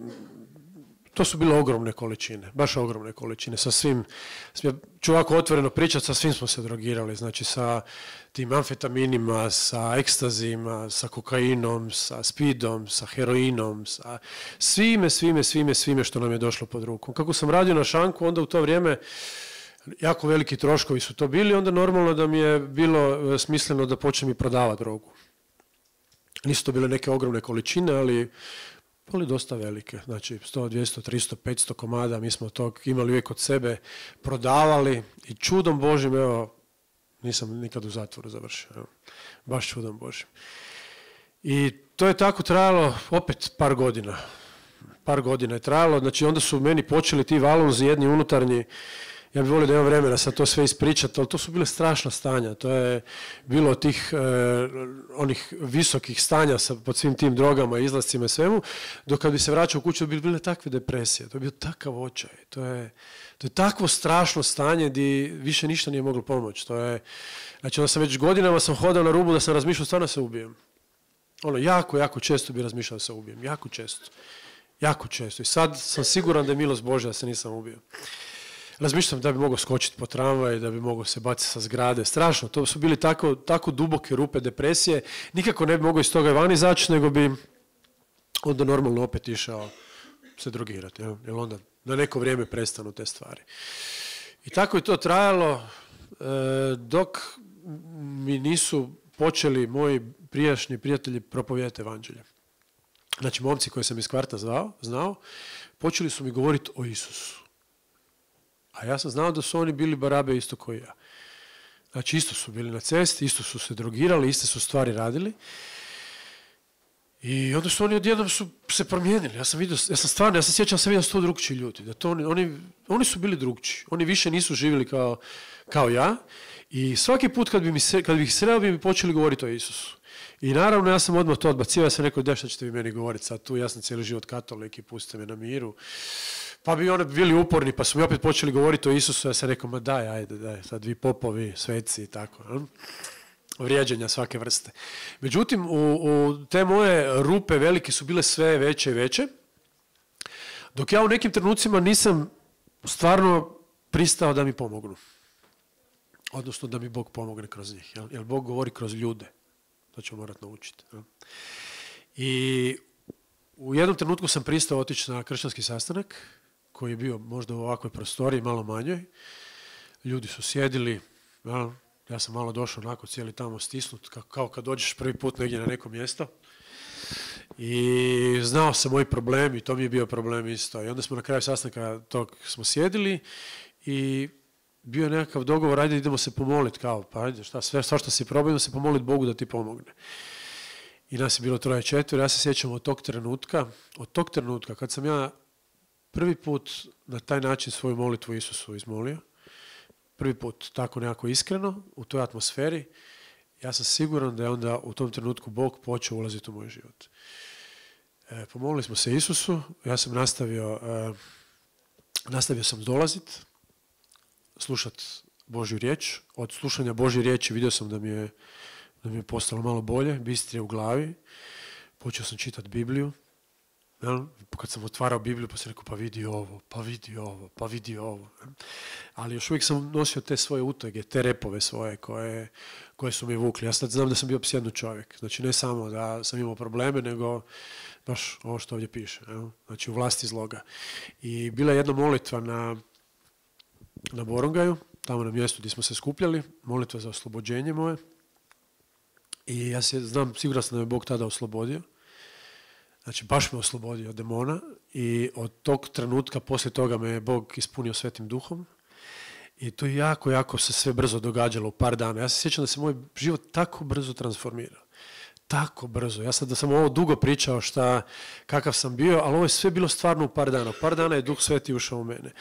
to su bile ogromne količine, baš ogromne količine, sa svim, ću ovako otvoreno pričati, sa svim smo se drogirali, znači sa tim amfetaminima, sa ekstazima, sa kokainom, sa speedom, sa heroinom, sa svime, svime, svime, svime što nam je došlo pod rukom. Kako sam radio na šanku, onda u to vrijeme jako veliki troškovi su to bili, onda normalno da mi je bilo smisleno da počnem i prodavati drogu. Nisu to bile neke ogromne količine, ali ali dosta velike, znači sto, dvjesto, tristo, petsto komada, mi smo to imali uvijek od sebe, prodavali i čudom Božim, evo, nisam nikad u zatvoru završio, evo, baš čudom Božim. I to je tako trajalo opet par godina, par godina je trajalo, znači onda su meni počeli ti valunzi jedni unutarnji, ja bih volio da imam vremena sad to sve ispričati, ali to su bile strašna stanja. To je bilo tih eh, onih visokih stanja sa, pod svim tim drogama, izlascima i svemu, dok kad bi se vraćao u kuću bi bile takve depresije. To je bio takav očaj. To je, to je takvo strašno stanje gdje više ništa nije moglo pomoći. To je, znači onda sam već godinama sam hodao na rubu da sam razmišljao stvarno se ubijem. Ono, jako, jako često bi razmišljao da se ubijem. Jako često. Jako često. I sad sam siguran da je milost Božja da se nisam ubio. Razmišljam da bi mogao skočiti po tramvaj, da bi mogao se baciti sa zgrade. Strašno, to su bili tako, tako duboke rupe depresije. Nikako ne bi mogao iz toga van izaći, nego bi onda normalno opet išao se drogirati. Jer onda na neko vrijeme prestanu te stvari. I tako je to trajalo dok mi nisu počeli moji prijašnji prijatelji propovjedati evanđelje. Znači, momci koje sam iz kvarta zvao, znao, počeli su mi govoriti o Isusu. A ja sam znao da su oni bili barabe isto koji ja. Znači, isto su bili na cesti, isto su se drogirali, iste su stvari radili. I onda su oni odjednom su se promijenili. Ja sam vidio, ja sam stvarno, ja se sjećam, sam vidio sto drugčiji ljudi. Da to oni, oni, oni su bili drugčiji. Oni više nisu živjeli kao, kao ja. I svaki put kad bi, mi se, kad bi ih sreo, bi mi počeli govoriti o Isusu. I naravno, ja sam odmah to odbacio. Ja sam rekao, da šta ćete vi meni govoriti sad tu? Ja sam cijeli život katolik i pustite me na miru. Pa bi oni bili uporni, pa su mi opet počeli govoriti o Isusu. Ja sam rekao, ma daj, ajde, daj, sad vi popovi, sveci i tako. Hm? Vrijeđanja svake vrste. Međutim, u, u te moje rupe velike su bile sve veće i veće, dok ja u nekim trenucima nisam stvarno pristao da mi pomognu. Odnosno da mi Bog pomogne kroz njih. Jel? Jer Bog govori kroz ljude. To ću morati naučiti. Jel? I u jednom trenutku sam pristao otići na kršćanski sastanak, koji je bio možda u ovakvoj prostoriji, malo manjoj. Ljudi su sjedili, jel? Ja sam malo došao onako cijeli tamo stisnut, kao kad dođeš prvi put negdje na neko mjesto. I znao sam moji problemi, i to mi je bio problem isto. I onda smo na kraju sastanka tog smo sjedili i bio je nekakav dogovor, ajde idemo se pomoliti, kao, pa ajde, šta, sve, sve što si probao, idemo se pomoliti Bogu da ti pomogne. I nas je bilo troje četvero, ja se sjećam od tog trenutka, od tog trenutka kad sam ja prvi put na taj način svoju molitvu Isusu izmolio, prvi put tako nekako iskreno, u toj atmosferi, ja sam siguran da je onda u tom trenutku Bog počeo ulaziti u moj život. E, pomolili smo se Isusu, ja sam nastavio, e, nastavio sam dolaziti, slušati Božju riječ. Od slušanja Božje riječi vidio sam da mi je, da mi je postalo malo bolje, bistrije u glavi. Počeo sam čitati Bibliju. Ja, kad sam otvarao Bibliju, pa sam rekao, pa vidi ovo, pa vidi ovo, pa vidi ovo. Ali još uvijek sam nosio te svoje utege, te repove svoje koje, koje su mi vukli. Ja sad znam da sam bio psjednu čovjek. Znači ne samo da sam imao probleme, nego baš ovo što ovdje piše. Ja? Znači u vlasti zloga. I bila je jedna molitva na, na Borongaju, tamo na mjestu gdje smo se skupljali, molitva za oslobođenje moje. I ja se znam, siguran sam da me Bog tada oslobodio. Znači, baš me oslobodio od demona i od tog trenutka, poslije toga me je Bog ispunio Svetim Duhom i to je jako, jako se sve brzo događalo u par dana. Ja se sjećam da se moj život tako brzo transformirao. Tako brzo. Ja sad da sam ovo dugo pričao šta, kakav sam bio, ali ovo je sve bilo stvarno u par dana. U par dana je Duh Sveti ušao u mene.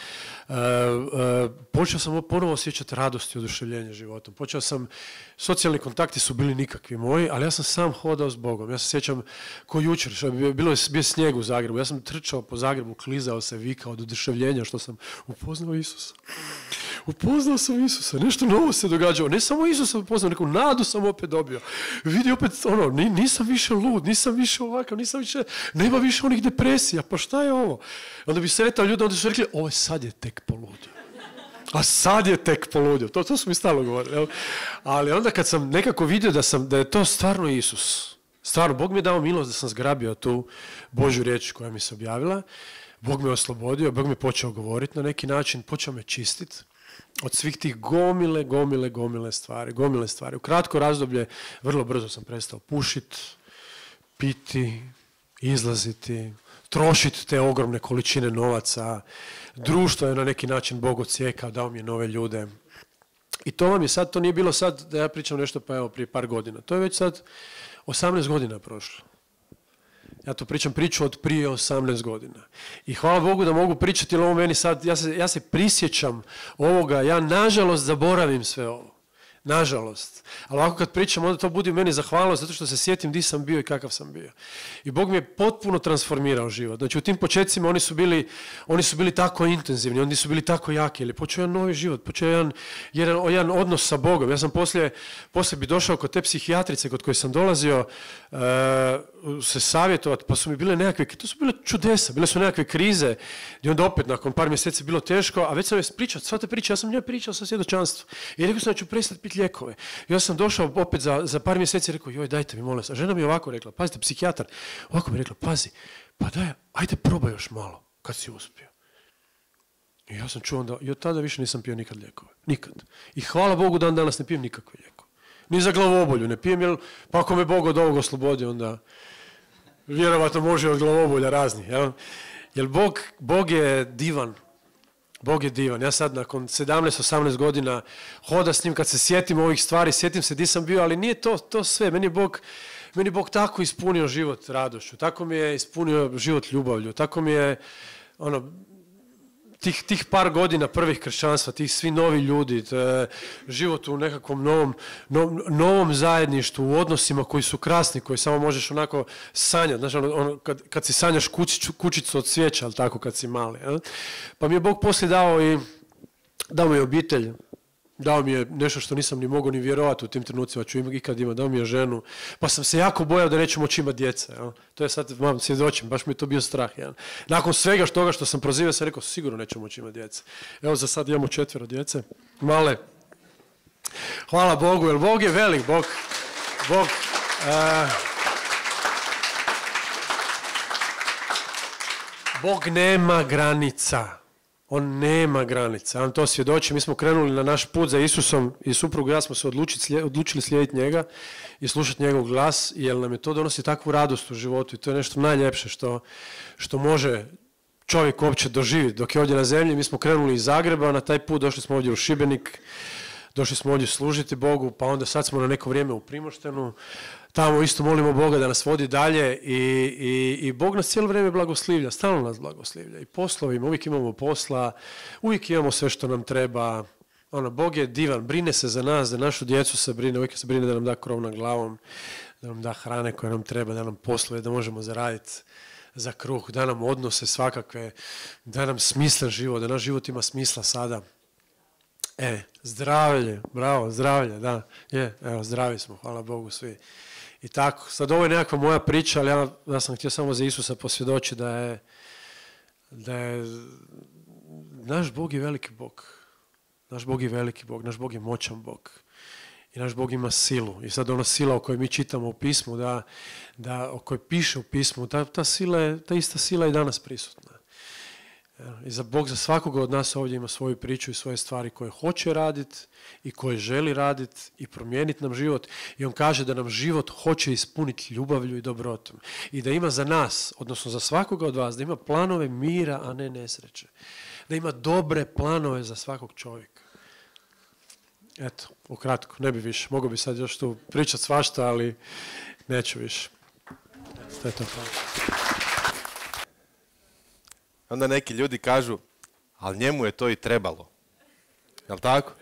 E, e, počeo sam ponovo osjećati radost i oduševljenje životom. Počeo sam, socijalni kontakti su bili nikakvi moji, ali ja sam sam hodao s Bogom. Ja se sjećam ko jučer, što je bilo je bio snijeg u Zagrebu. Ja sam trčao po Zagrebu, klizao se, vikao od oduševljenja što sam upoznao Isusa. Upoznao sam Isusa, nešto novo se događalo. Ne samo Isusa upoznao, neku nadu sam opet dobio. Vidi opet ono, nisam više lud, nisam više ovakav, nisam više, nema više onih depresija, pa šta je ovo? Onda bi sretao ljudi, onda su rekli, ovo sad je tek poludio. A sad je tek poludio. To, to su mi stalno govorili. Jel? Ali onda kad sam nekako vidio da, sam, da je to stvarno Isus, stvarno, Bog mi je dao milost da sam zgrabio tu Božju riječ koja mi se objavila, Bog me oslobodio, Bog mi je počeo govoriti na neki način, počeo me čistiti od svih tih gomile, gomile, gomile stvari, gomile stvari. U kratko razdoblje, vrlo brzo sam prestao pušiti, piti, izlaziti, trošiti te ogromne količine novaca. Društvo je na neki način Bog odsjekao, dao mi je nove ljude. I to vam je sad, to nije bilo sad da ja pričam nešto pa evo prije par godina. To je već sad osamnaest godina prošlo. Ja to pričam priču od prije osamnaest godina. I hvala Bogu da mogu pričati, jer ovo meni sad, ja se, ja se prisjećam ovoga, ja nažalost zaboravim sve ovo. Nažalost. Ali ovako kad pričam, onda to budi u meni zahvalnost, zato što se sjetim di sam bio i kakav sam bio. I Bog mi je potpuno transformirao život. Znači u tim početcima oni su bili, oni su bili tako intenzivni, oni su bili tako jaki, ali počeo jedan novi život, počeo jedan, jedan, jedan odnos sa Bogom. Ja sam poslije, poslije bi došao kod te psihijatrice kod koje sam dolazio uh, se savjetovati, pa su mi bile nekakve, to su bile čudesa, bile su nekakve krize, i onda opet nakon par mjeseci bilo teško, a već sam je pričao, sva te priče, ja sam njoj pričao sa svjedočanstvom. I rekao sam da ću prestati piti lijekove. I ja sam došao opet za, za par mjeseci i rekao, joj, dajte mi, molim vas. A žena mi je ovako rekla, pazite, psihijatar, ovako mi je rekla, pazi, pa daj, ajde probaj još malo, kad si uspio. I ja sam čuo onda, i od tada više nisam pio nikad lijekove. Nikad. I hvala Bogu dan danas ne pijem nikakve lijekove. Ni za glavobolju ne pijem, jer pa ako me Bog od ovog oslobodi, onda vjerovatno može od glavobolja razni. Jel? Jer Bog, Bog je divan. Bog je divan. Ja sad nakon sedamnaest osamnaest godina hoda s njim, kad se sjetim ovih stvari, sjetim se di sam bio, ali nije to, to sve. Meni je Bog, Meni Bog tako ispunio život radošću, tako mi je ispunio život ljubavlju, tako mi je ono, tih, tih par godina prvih kršćanstva, tih svi novi ljudi, život u nekakvom novom, no, novom zajedništvu, u odnosima koji su krasni, koji samo možeš onako sanjati. Znaš, ono, ono, kad, kad si sanjaš kućicu, kućicu od cvijeća, ali tako kad si mali. Ja? Pa mi je Bog poslije dao i dao mi je obitelj. Dao mi je nešto što nisam ni mogao ni vjerovati u tim trenucima, ću ikad imati, dao mi je ženu, pa sam se jako bojao da neću moći imati djece. Ja. To je sad, mam, svjedočim, baš mi je to bio strah. Ja. Nakon svega toga što sam prozivao, sam rekao, sigurno neću moći imati djece. Evo za sad imamo četvero djece, male. Hvala Bogu, jer Bog je velik, Bog, Bog, uh, Bog nema granica. On nema granica, on to svjedoči. Mi smo krenuli na naš put za Isusom i suprugu i ja smo se odlučili, odlučili slijediti njega i slušati njegov glas, jer nam je to donosi takvu radost u životu i to je nešto najljepše što, što može čovjek uopće doživjeti. Dok je ovdje na zemlji, mi smo krenuli iz Zagreba, na taj put došli smo ovdje u Šibenik, došli smo ovdje služiti Bogu, pa onda sad smo na neko vrijeme u Primoštenu. Tamo isto molimo Boga da nas vodi dalje i, i, i Bog nas cijelo vrijeme blagoslivlja, stalno nas blagoslivlja. I poslovima, uvijek imamo posla, uvijek imamo sve što nam treba. Ono, Bog je divan, brine se za nas, za našu djecu se brine, uvijek se brine da nam da krov nad glavom, da nam da hrane koje nam treba, da nam poslove, da možemo zaraditi za kruh, da nam odnose svakakve, da nam smislen život, da naš život ima smisla sada. E, zdravlje, bravo, zdravlje, da, je, evo, zdravi smo, hvala Bogu svi. I tako, sad ovo je nekakva moja priča, ali ja, ja sam htio samo za Isusa posvjedočiti da je, da je, naš Bog je veliki Bog, naš Bog je veliki Bog, naš Bog je moćan Bog i naš Bog ima silu. I sad ona sila o kojoj mi čitamo u pismu, da, da, o kojoj piše u pismu, ta, ta, sila je, ta ista sila je danas prisutna. I za Bog za svakoga od nas ovdje ima svoju priču i svoje stvari koje hoće raditi i koje želi raditi i promijeniti nam život. I on kaže da nam život hoće ispuniti ljubavlju i dobrotom. I da ima za nas, odnosno za svakoga od vas, da ima planove mira, a ne nesreće. Da ima dobre planove za svakog čovjeka. Eto, ukratko, ne bi više. Mogao bi sad još tu pričati svašta, ali neću više. To je to. Onda neki ljudi kažu, ali njemu je to i trebalo. Jel' tako?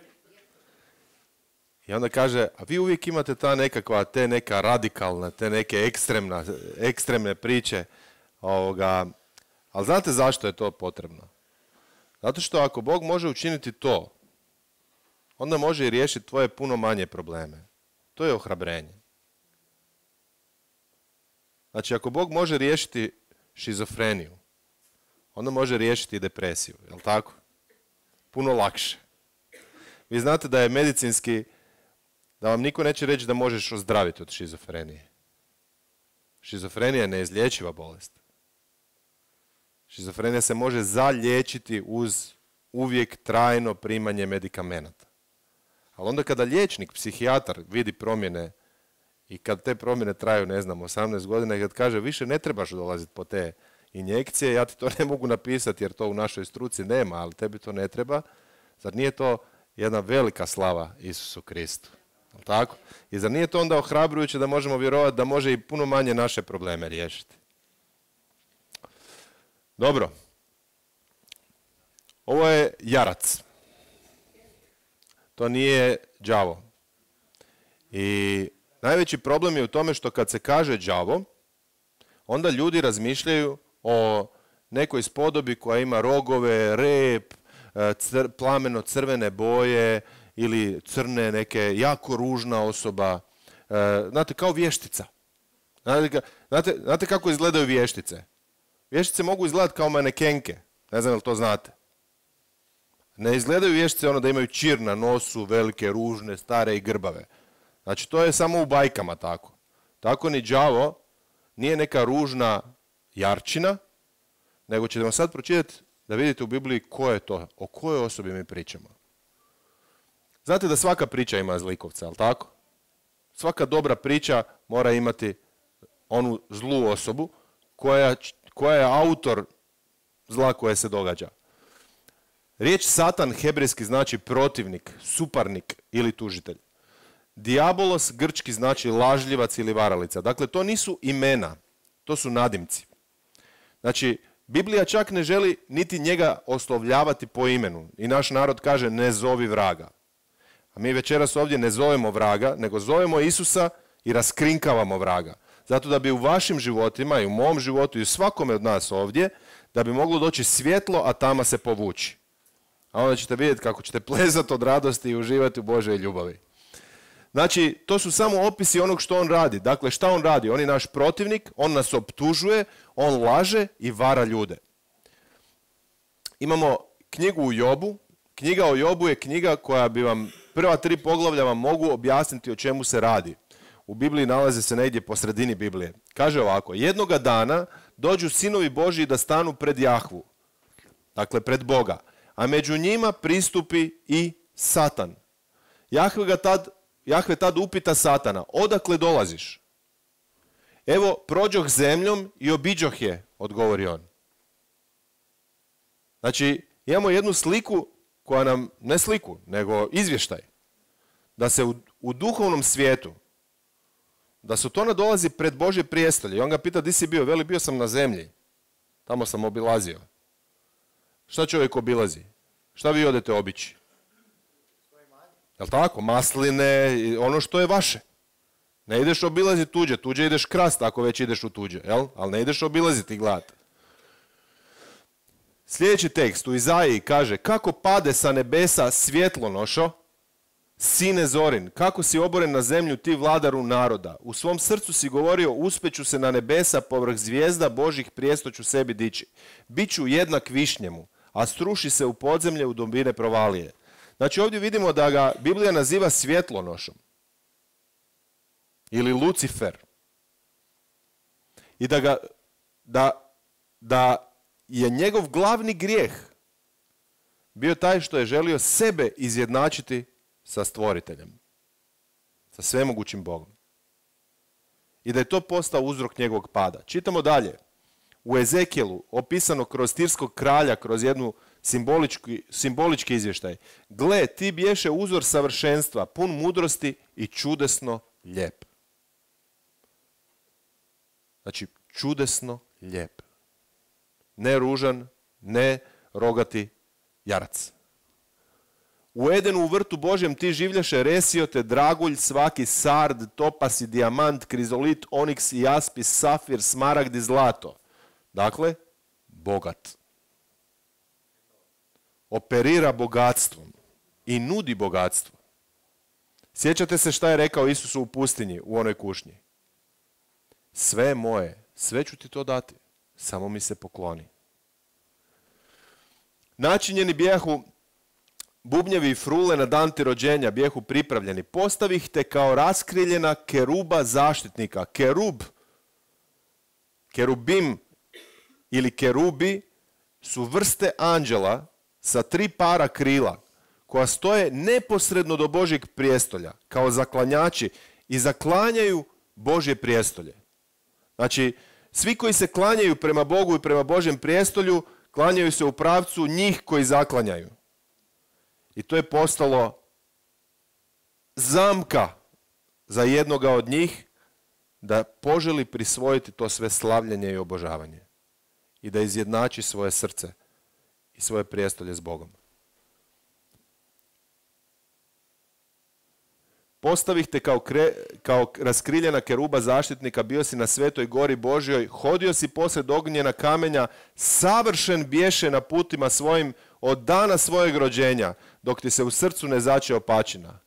I onda kaže, a vi uvijek imate ta nekakva, te neka radikalna, te neke ekstremna, ekstremne priče. Ovoga, ali znate zašto je to potrebno? Zato što ako Bog može učiniti to, onda može i riješiti tvoje puno manje probleme. To je ohrabrenje. Znači, ako Bog može riješiti šizofreniju, onda može riješiti i depresiju, jel' tako? Puno lakše. Vi znate da je medicinski, da vam niko neće reći da možeš ozdraviti od šizofrenije. Šizofrenija je neizlječiva bolest. Šizofrenija se može zaliječiti uz uvijek trajno primanje medikamenata. Ali onda kada liječnik, psihijatar vidi promjene i kad te promjene traju, ne znam, osamnaest godina i kad kaže više ne trebaš dolaziti po te injekcije, ja ti to ne mogu napisati jer to u našoj struci nema, ali tebi to ne treba. Zar nije to jedna velika slava Isusu Kristu? Tako? I zar nije to onda ohrabrujuće da možemo vjerovati da može i puno manje naše probleme riješiti? Dobro. Ovo je jarac. To nije đavo. I najveći problem je u tome što kad se kaže đavo, onda ljudi razmišljaju o nekoj spodobi koja ima rogove, rep, cr, plameno crvene boje ili crne neke, jako ružna osoba. Znate, kao vještica. Znate, znate, znate kako izgledaju vještice? Vještice mogu izgledati kao manekenke. Ne znam je li to znate. Ne izgledaju vještice ono da imaju čir na nosu, velike, ružne, stare i grbave. Znači, to je samo u bajkama tako. Tako ni đavo nije neka ružna jarčina, nego ćete vam sad pročitati da vidite u Bibliji ko je to, o kojoj osobi mi pričamo. Znate da svaka priča ima zlikovca, jel' tako? Svaka dobra priča mora imati onu zlu osobu koja, koja je autor zla koje se događa. Riječ Satan hebrejski znači protivnik, suparnik ili tužitelj. Diabolos grčki znači lažljivac ili varalica. Dakle, to nisu imena, to su nadimci. Znači, Biblija čak ne želi niti njega oslovljavati po imenu. I naš narod kaže ne zovi vraga. A mi večeras ovdje ne zovemo vraga, nego zovemo Isusa i raskrinkavamo vraga. Zato da bi u vašim životima i u mom životu i u svakome od nas ovdje, da bi moglo doći svjetlo, a tama se povući. A onda ćete vidjeti kako ćete plezati od radosti i uživati u Božoj ljubavi. Znači, to su samo opisi onog što on radi. Dakle, šta on radi? On je naš protivnik, on nas optužuje, on laže i vara ljude. Imamo knjigu u Jobu. Knjiga o Jobu je knjiga koja bi vam, prva tri poglavlja vam mogu objasniti o čemu se radi. U Bibliji nalaze se negdje po sredini Biblije. Kaže ovako, jednoga dana dođu sinovi Božji da stanu pred Jahvu, dakle pred Boga, a među njima pristupi i Satan. Jahve ga tad, Jahve tad upita Satana, odakle dolaziš? Evo, prođoh zemljom i obiđoh je, odgovori on. Znači, imamo jednu sliku koja nam, ne sliku, nego izvještaj, da se u, u duhovnom svijetu, da su to nadolazi pred Božje prijestolje. I on ga pita, di si bio? Veli, bio sam na zemlji. Tamo sam obilazio. Šta čovjek obilazi? Šta vi odete obići? Jel' tako? Masline, ono što je vaše. Ne ideš obilaziti tuđe, tuđe ideš krast ako već ideš u tuđe, jel? Ali ne ideš obilaziti i gledati. Sljedeći tekst u Izaiji kaže, kako pade sa nebesa svjetlonošo, sine Zorin, kako si oboren na zemlju ti vladaru naroda. U svom srcu si govorio, uspeću se na nebesa, povrh zvijezda Božih prijesto ću sebi dići. Biću jednak višnjemu, a struši se u podzemlje u dubine provalije. Znači ovdje vidimo da ga Biblija naziva svjetlonošom. Ili Lucifer. I da ga, da, da je njegov glavni grijeh bio taj što je želio sebe izjednačiti sa stvoriteljem, sa svemogućim Bogom. I da je to postao uzrok njegovog pada. Čitamo dalje. U Ezekijelu, opisano kroz tirskog kralja, kroz jednu simbolički, simbolički izvještaj. Gle, ti bješe uzor savršenstva, pun mudrosti i čudesno lijep. Znači, čudesno lijep. Ne ružan, ne rogati jarac. U Edenu u vrtu Božjem ti življaše resiote, dragulj, svaki sard, topas i dijamant, krizolit, oniks i jaspis, safir, smaragd i zlato. Dakle, bogat. Operira bogatstvom i nudi bogatstvo. Sjećate se šta je rekao Isusu u pustinji, u onoj kušnji? Sve je moje, sve ću ti to dati, samo mi se pokloni. Načinjeni bijahu bubnjevi i frule na dan ti rođenja, bijahu pripravljeni. Postavih te kao raskriljena keruba zaštitnika. Kerub, kerubim ili kerubi su vrste anđela sa tri para krila koja stoje neposredno do Božjeg prijestolja kao zaklanjači i zaklanjaju Božje prijestolje. Znači, svi koji se klanjaju prema Bogu i prema Božjem prijestolju, klanjaju se u pravcu njih koji zaklanjaju. I to je postalo zamka za jednoga od njih da poželi prisvojiti to sve slavljenje i obožavanje. I da izjednači svoje srce i svoje prijestolje s Bogom. Postavih te kao, kre, kao raskriljena keruba zaštitnika, bio si na svetoj gori Božjoj, hodio si posred ognjena kamenja, savršen bješe na putima svojim od dana svojeg rođenja, dok ti se u srcu ne zače opačina.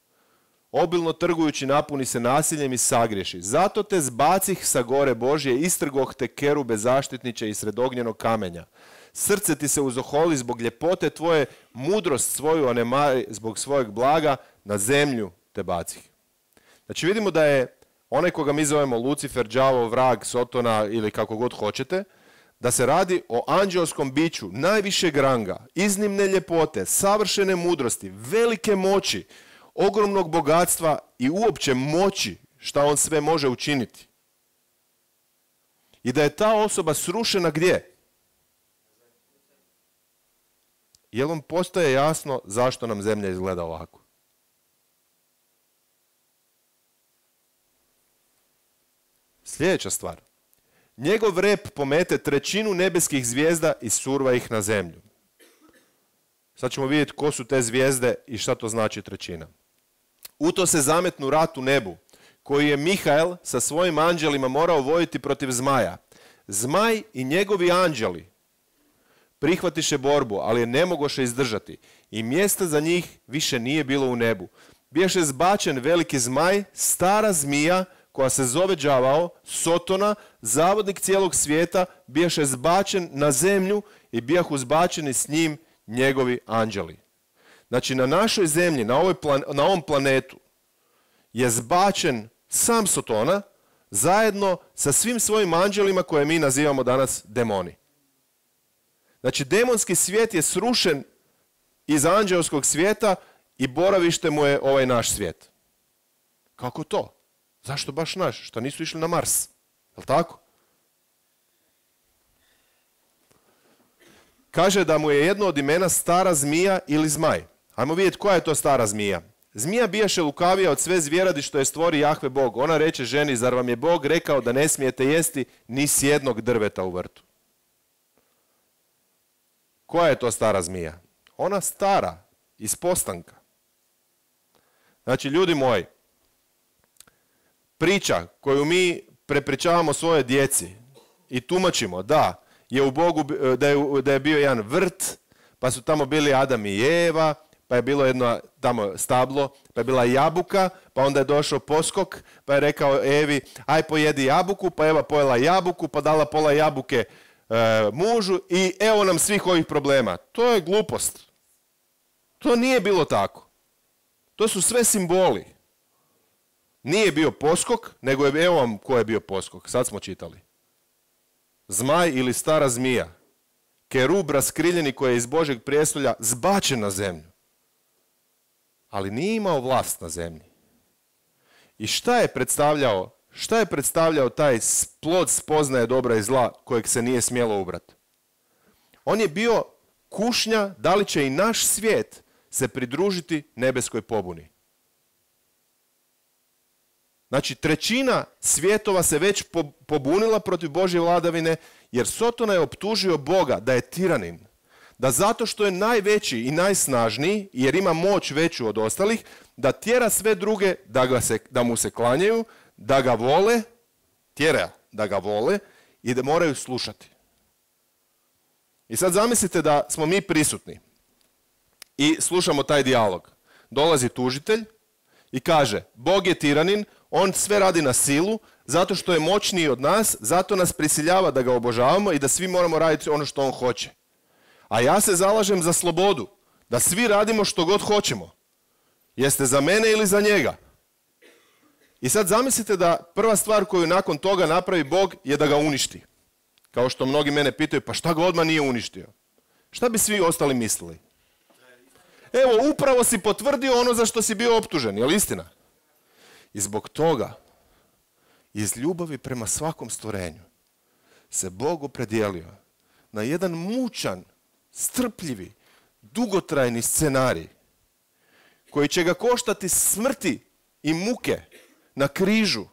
Obilno trgujući napuni se nasiljem i sagriješi. Zato te zbacih sa gore Božje, istrgoh te kerube zaštitniče i sred ognjenog kamenja. Srce ti se uzoholi zbog ljepote tvoje, mudrost svoju onemari zbog svojeg blaga, na zemlju te bacih. Znači vidimo da je onaj koga mi zovemo Lucifer, đavo, vrag, Sotona ili kako god hoćete, da se radi o anđelskom biću najvišeg ranga, iznimne ljepote, savršene mudrosti, velike moći, ogromnog bogatstva i uopće moći šta on sve može učiniti. I da je ta osoba srušena gdje? Jel vam postaje jasno zašto nam zemlja izgleda ovako? Sljedeća stvar. Njegov rep pomete trećinu nebeskih zvijezda i surva ih na zemlju. Sad ćemo vidjeti ko su te zvijezde i šta to znači trećina. U to se zametnu rat u nebu, koji je Mihael sa svojim anđelima morao voditi protiv zmaja. Zmaj i njegovi anđeli prihvatiše borbu, ali je ne mogoše izdržati. I mjesta za njih više nije bilo u nebu. Biješe zbačen veliki zmaj, stara zmija, koja se zove đavao, Sotona, zavodnik cijelog svijeta, biješe zbačen na zemlju i bijahu zbačeni s njim njegovi anđeli. Znači, na našoj zemlji, na, ovoj plan, na ovom planetu, je zbačen sam Sotona, zajedno sa svim svojim anđelima koje mi nazivamo danas demoni. Znači, demonski svijet je srušen iz anđelskog svijeta i boravište mu je ovaj naš svijet. Kako to? Zašto baš naš? Što nisu išli na Mars? Jel' tako? Kaže da mu je jedno od imena stara zmija ili zmaj. Ajmo vidjeti koja je to stara zmija. Zmija bijaše lukavija od sve zvjeradi što je stvori Jahve Bog. Ona reče ženi, zar vam je Bog rekao da ne smijete jesti ni s jednog drveta u vrtu? Koja je to stara zmija? Ona stara, iz postanka. Znači, ljudi moji, priča koju mi prepričavamo svojoj djeci i tumačimo da je u Bogu, da je, da je bio jedan vrt, pa su tamo bili Adam i Eva, pa je bilo jedno tamo stablo, pa je bila jabuka, pa onda je došao poskok, pa je rekao Evi, aj pojedi jabuku, pa Eva pojela jabuku, pa dala pola jabuke e, mužu i evo nam svih ovih problema. To je glupost. To nije bilo tako. To su sve simboli. Nije bio poskok, nego je, evo vam ko je bio poskok, sad smo čitali. Zmaj ili stara zmija, kerub raskriljeni koji je iz Božeg prijestolja zbačen na zemlju. Ali nije imao vlast na zemlji. I šta je predstavljao, šta je predstavljao taj plod spoznaje dobra i zla kojeg se nije smjelo ubrati? On je bio kušnja da li će i naš svijet se pridružiti nebeskoj pobuni. Znači, trećina svjetova se već pobunila protiv Božje vladavine, jer Sotona je optužio Boga da je tiranin. Da zato što je najveći i najsnažniji, jer ima moć veću od ostalih, da tjera sve druge da, ga se, da mu se klanjaju, da ga vole, tjera da ga vole i da moraju slušati. I sad zamislite da smo mi prisutni i slušamo taj dijalog. Dolazi tužitelj i kaže, Bog je tiranin, on sve radi na silu, zato što je moćniji od nas, zato nas prisiljava da ga obožavamo i da svi moramo raditi ono što on hoće. A ja se zalažem za slobodu, da svi radimo što god hoćemo. Jeste za mene ili za njega? I sad zamislite da prva stvar koju nakon toga napravi Bog je da ga uništi. Kao što mnogi mene pitaju, pa šta ga odmah nije uništio? Šta bi svi ostali mislili? Evo, upravo si potvrdio ono za što si bio optužen, je li istina? I zbog toga, iz ljubavi prema svakom stvorenju, se Bog opredijelio na jedan mučan, strpljivi, dugotrajni scenarij koji će ga koštati smrti i muke na križu,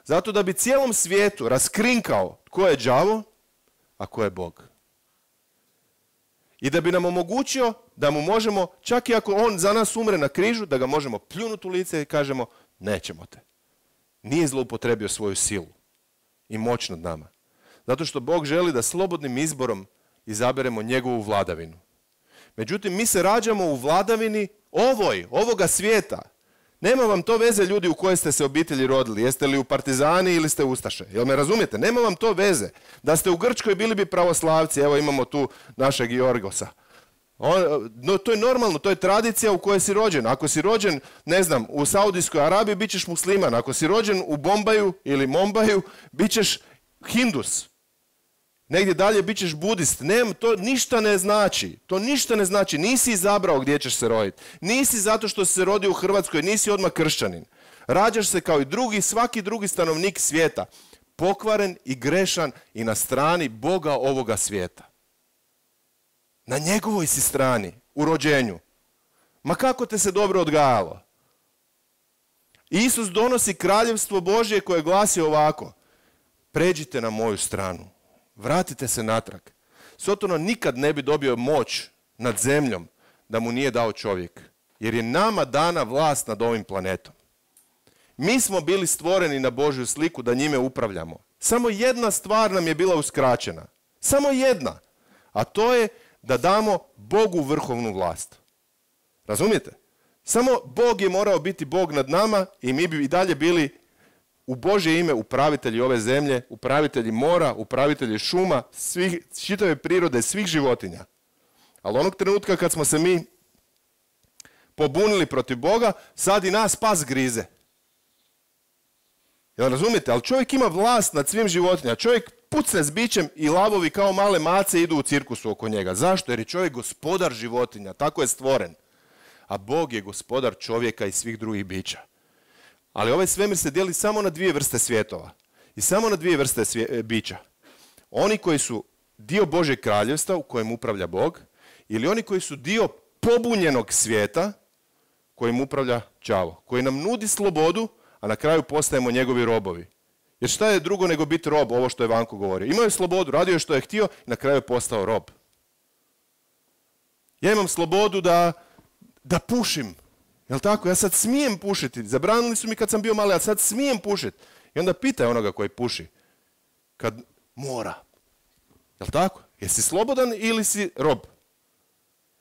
zato da bi cijelom svijetu raskrinkao tko je đavo, a ko je Bog. I da bi nam omogućio da mu možemo, čak i ako on za nas umre na križu, da ga možemo pljunuti u lice i kažemo, nećemo te. Nije zloupotrebio svoju silu i moć nad nama. Zato što Bog želi da slobodnim izborom izaberemo njegovu vladavinu. Međutim, mi se rađamo u vladavini ovoj, ovoga svijeta. Nema vam to veze, ljudi, u koje ste se obitelji rodili. Jeste li u partizani ili ste ustaše? Jel me razumijete? Nema vam to veze. Da ste u Grčkoj bili bi pravoslavci. Evo imamo tu našeg Jorgosa. On, no, to je normalno, to je tradicija u kojoj si rođen. Ako si rođen, ne znam, u Saudijskoj Arabiji, bit ćeš musliman. Ako si rođen u Bombaju ili Mombaju, bit ćeš hindus. Negdje dalje bit ćeš budist. Ne, to ništa ne znači. To ništa ne znači. Nisi izabrao gdje ćeš se roditi. Nisi zato što si se rodio u Hrvatskoj, nisi odmah kršćanin. Rađaš se kao i drugi, svaki drugi stanovnik svijeta. Pokvaren i grešan i na strani Boga ovoga svijeta. Na njegovoj si strani, u rođenju. Ma kako te se dobro odgajalo. Isus donosi kraljevstvo Božje koje glasi ovako. pređite na moju stranu, vratite se natrag. Sotona nikad ne bi dobio moć nad zemljom da mu nije dao čovjek, jer je nama dana vlast nad ovim planetom. Mi smo bili stvoreni na Božju sliku da njime upravljamo. Samo jedna stvar nam je bila uskraćena. Samo jedna. A to je da damo Bogu vrhovnu vlast. Razumijete? Samo Bog je morao biti Bog nad nama i mi bi i dalje bili u Božje ime upravitelji ove zemlje, upravitelji mora, upravitelji šuma, svih, čitave prirode, svih životinja. Ali onog trenutka kad smo se mi pobunili protiv Boga, sad i nas pas grize. Jel razumijete? Ali čovjek ima vlast nad svim životinjama. Čovjek pucne s bićem i lavovi kao male mace idu u cirkusu oko njega. Zašto? Jer je čovjek gospodar životinja. Tako je stvoren. A Bog je gospodar čovjeka i svih drugih bića. Ali ovaj svemir se dijeli samo na dvije vrste svjetova. I samo na dvije vrste svije, bića. Oni koji su dio Božjeg kraljevstva u kojem upravlja Bog, ili oni koji su dio pobunjenog svijeta kojim upravlja đavo, koji nam nudi slobodu, a na kraju postajemo njegovi robovi. Jer šta je drugo nego biti rob, ovo što je Vanko govorio? Imao je slobodu, radio je što je htio i na kraju je postao rob. Ja imam slobodu da, da pušim. Jel tako? Ja sad smijem pušiti. Zabranili su mi kad sam bio mali, a sad smijem pušiti. I onda pitaj onoga koji puši. Kad mora. Jel tako? Jesi slobodan ili si rob?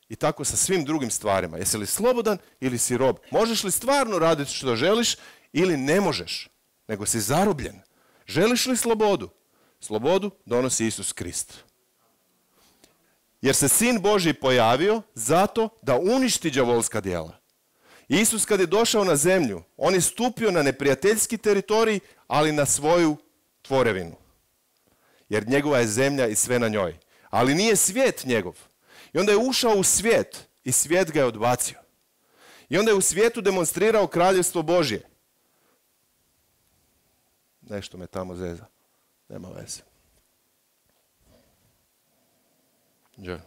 I tako sa svim drugim stvarima. Jesi li slobodan ili si rob? Možeš li stvarno raditi što želiš ili ne možeš? Nego si zarobljen. Želiš li slobodu? Slobodu donosi Isus Krist. Jer se Sin Božji pojavio zato da uništi đavolska djela. Isus kad je došao na zemlju, on je stupio na neprijateljski teritorij, ali na svoju tvorevinu. Jer njegova je zemlja i sve na njoj. Ali nije svijet njegov. I onda je ušao u svijet i svijet ga je odbacio. I onda je u svijetu demonstrirao kraljevstvo Božje. Nešto me tamo zeza. Nema veze. Đe.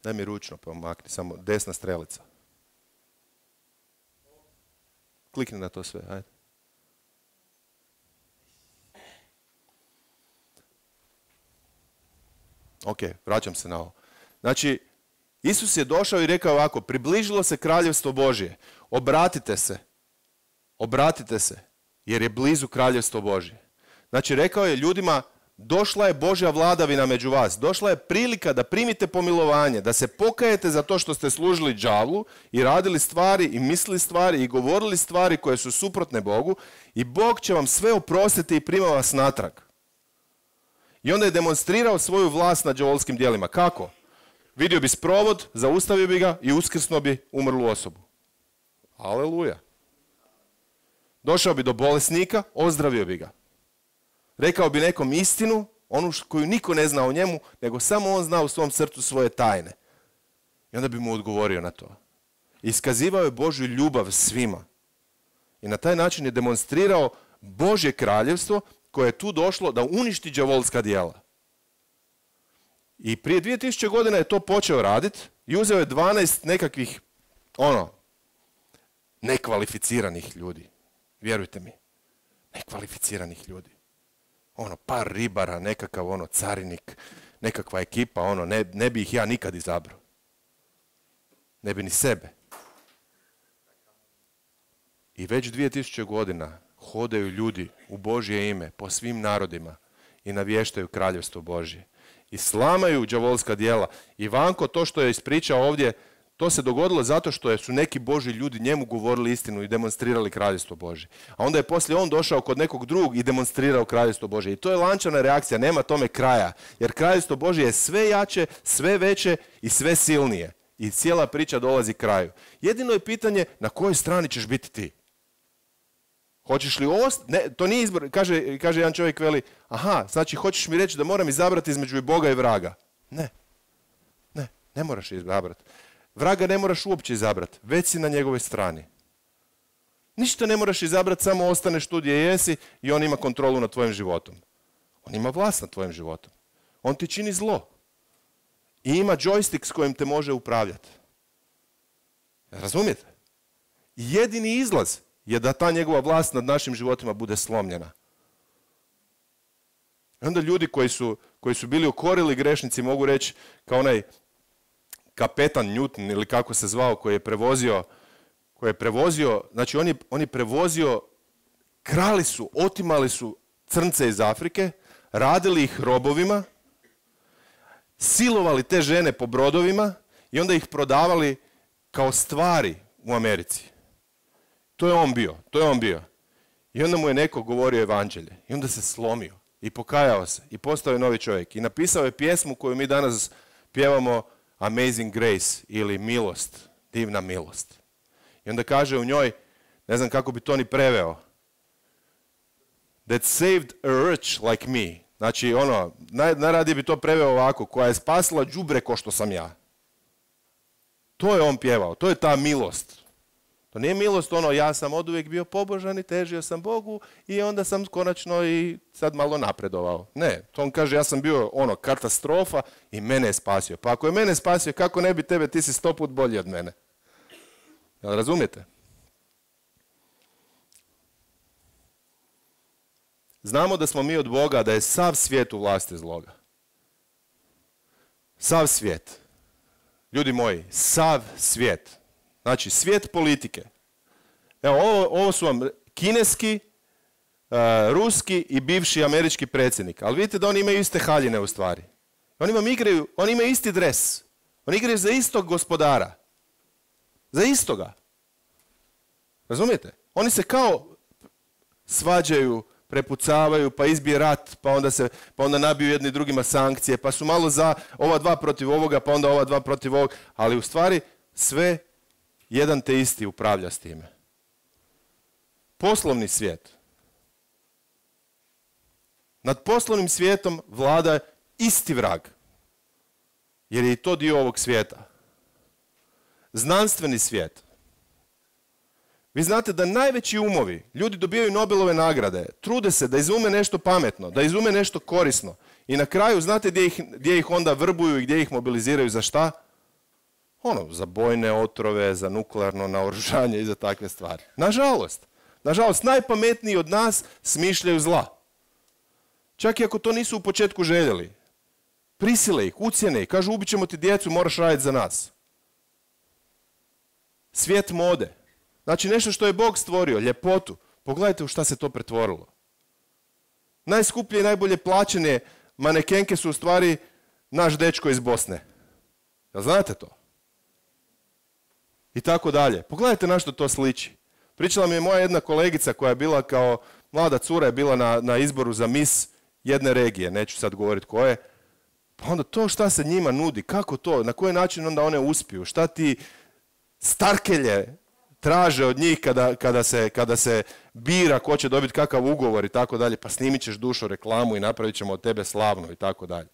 Daj mi ručno pa makni, samo desna strelica. Klikni na to sve, ajde. Ok, vraćam se na ovo. Znači, Isus je došao i rekao ovako, približilo se kraljevstvo Božje, obratite se, obratite se, jer je blizu kraljevstvo Božje. Znači, rekao je ljudima, došla je Božja vladavina među vas, došla je prilika da primite pomilovanje, da se pokajete za to što ste služili đavlu i radili stvari i mislili stvari i govorili stvari koje su suprotne Bogu i Bog će vam sve oprostiti i prima vas natrag. I onda je demonstrirao svoju vlast nad đavolskim djelima. Kako? Vidio bi sprovod, zaustavio bi ga i uskrsnuo bi umrlu osobu. Aleluja. Došao bi do bolesnika, ozdravio bi ga. Rekao bi nekom istinu, onu koju niko ne zna o njemu, nego samo on zna u svom srcu svoje tajne. I onda bi mu odgovorio na to. Iskazivao je Božju ljubav svima. I na taj način je demonstrirao Božje kraljevstvo koje je tu došlo da uništi đavolska djela. I prije dvije tisuće godina je to počeo raditi i uzeo je dvanaest nekakvih, ono, nekvalificiranih ljudi. Vjerujte mi, nekvalificiranih ljudi. Ono, par ribara, nekakav ono carinik, nekakva ekipa, ono, ne, ne bi ih ja nikad izabrao. Ne bi ni sebe. I već dvije tisuće godina hodaju ljudi u Božje ime po svim narodima i navještaju kraljevstvo Božje. I slamaju đavolska djela. I Vanko, to što je ispričao ovdje, to se dogodilo zato što su neki Božji ljudi njemu govorili istinu i demonstrirali kraljevstvo Božje. A onda je poslije on došao kod nekog drugog i demonstrirao kraljevstvo Božje. I to je lančana reakcija, nema tome kraja. Jer kraljevstvo Božje je sve jače, sve veće i sve silnije. I cijela priča dolazi kraju. Jedino je pitanje na kojoj strani ćeš biti ti. Hoćeš li ostati? Ne, to nije izbor. Kaže, kaže jedan čovjek, veli, aha, znači hoćeš mi reći da moram izabrati između Boga i vraga. Ne, ne, ne moraš izabrati. Vraga ne moraš uopće izabrati, već si na njegovoj strani. Ništa ne moraš izabrati, samo ostaneš tu gdje jesi i on ima kontrolu nad tvojim životom. On ima vlast nad tvojim životom. On ti čini zlo. I ima džojstik s kojim te može upravljati. Razumijete? Jedini izlaz je da ta njegova vlast nad našim životima bude slomljena. I onda ljudi koji su, koji su bili okorili grešnici mogu reći kao onaj kapetan Newton ili kako se zvao koji je prevozio, koji je prevozio, znači on je, on je prevozio, krali su, otimali su crnce iz Afrike, radili ih robovima, silovali te žene po brodovima i onda ih prodavali kao stvari u Americi. To je on bio, to je on bio. I onda mu je neko govorio evanđelje i onda se slomio i pokajao se i postao je novi čovjek i napisao je pjesmu koju mi danas pjevamo Amazing Grace ili Milost, divna milost. I onda kaže u njoj, ne znam kako bi to ni preveo, that saved a wretch like me. Znači ono, naj, najradije bi to preveo ovako, koja je spasila đubre ko što sam ja. To je on pjevao, to je ta milost. To nije milost ono, ja sam oduvijek bio pobožan i težio sam Bogu i onda sam konačno i sad malo napredovao. Ne, to on kaže, ja sam bio ono, katastrofa i mene je spasio. Pa ako je mene spasio, kako ne bi tebe, ti si sto put bolji od mene. Jel razumijete? Znamo da smo mi od Boga, da je sav svijet u vlasti zloga. Sav svijet. Ljudi moji, sav svijet. Znači, svijet politike. Evo, ovo, ovo su vam kineski, uh, ruski i bivši američki predsjednik. Ali vidite da oni imaju iste haljine u stvari. Oni vam igraju, oni imaju isti dres. Oni igraju za istog gospodara. Za istoga. Razumijete? Oni se kao svađaju, prepucavaju, pa izbije rat, pa onda, se, pa onda nabiju jedni drugima sankcije, pa su malo za ova dva protiv ovoga, pa onda ova dva protiv ovog. Ali u stvari sve jedan te isti upravlja s time. Poslovni svijet. Nad poslovnim svijetom vlada isti vrag. Jer je i to dio ovog svijeta. Znanstveni svijet. Vi znate da najveći umovi, ljudi dobijaju Nobelove nagrade, trude se da izume nešto pametno, da izume nešto korisno. I na kraju, znate gdje ih, gdje ih onda vrbuju i gdje ih mobiliziraju za šta? Ono, za bojne otrove, za nuklearno naoružanje i za takve stvari. Nažalost, nažalost, najpametniji od nas smišljaju zla. Čak i ako to nisu u početku željeli. Prisile ih, ucjene ih, kažu ubit ćemo ti djecu, moraš raditi za nas. Svijet mode. Znači nešto što je Bog stvorio, ljepotu. Pogledajte u šta se to pretvorilo. Najskuplje i najbolje plaćene manekenke su u stvari naš dečko iz Bosne. Jel znate to? I tako dalje. Pogledajte na što to sliči. Pričala mi je moja jedna kolegica koja je bila kao mlada cura, je bila na, na izboru za mis jedne regije, neću sad govoriti koje. Pa onda to šta se njima nudi, kako to, na koji način onda one uspiju, šta ti starkelje traže od njih kada, kada, se, kada se bira ko će dobiti kakav ugovor i tako dalje, pa snimit ćeš dušo reklamu i napravit ćemo od tebe slavno i tako dalje.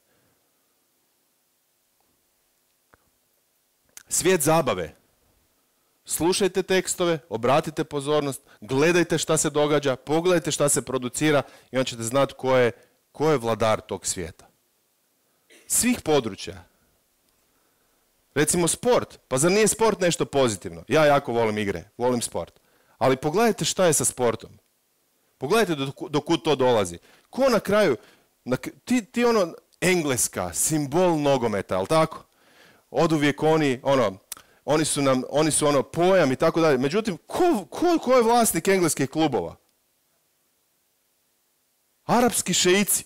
Svijet zabave. Slušajte tekstove, obratite pozornost, gledajte šta se događa, pogledajte šta se producira i onda ćete znati ko je, ko je vladar tog svijeta. Svih područja. Recimo sport. Pa zar nije sport nešto pozitivno? Ja jako volim igre, volim sport. Ali pogledajte šta je sa sportom. Pogledajte do kud to dolazi. Ko na kraju, na, ti, ti ono, Engleska, simbol nogometa, ali tako? Oduvijek oni, ono, oni su nam, oni su ono pojam i tako dalje. Međutim, ko, ko, ko je vlasnik engleskih klubova? Arapski šeici.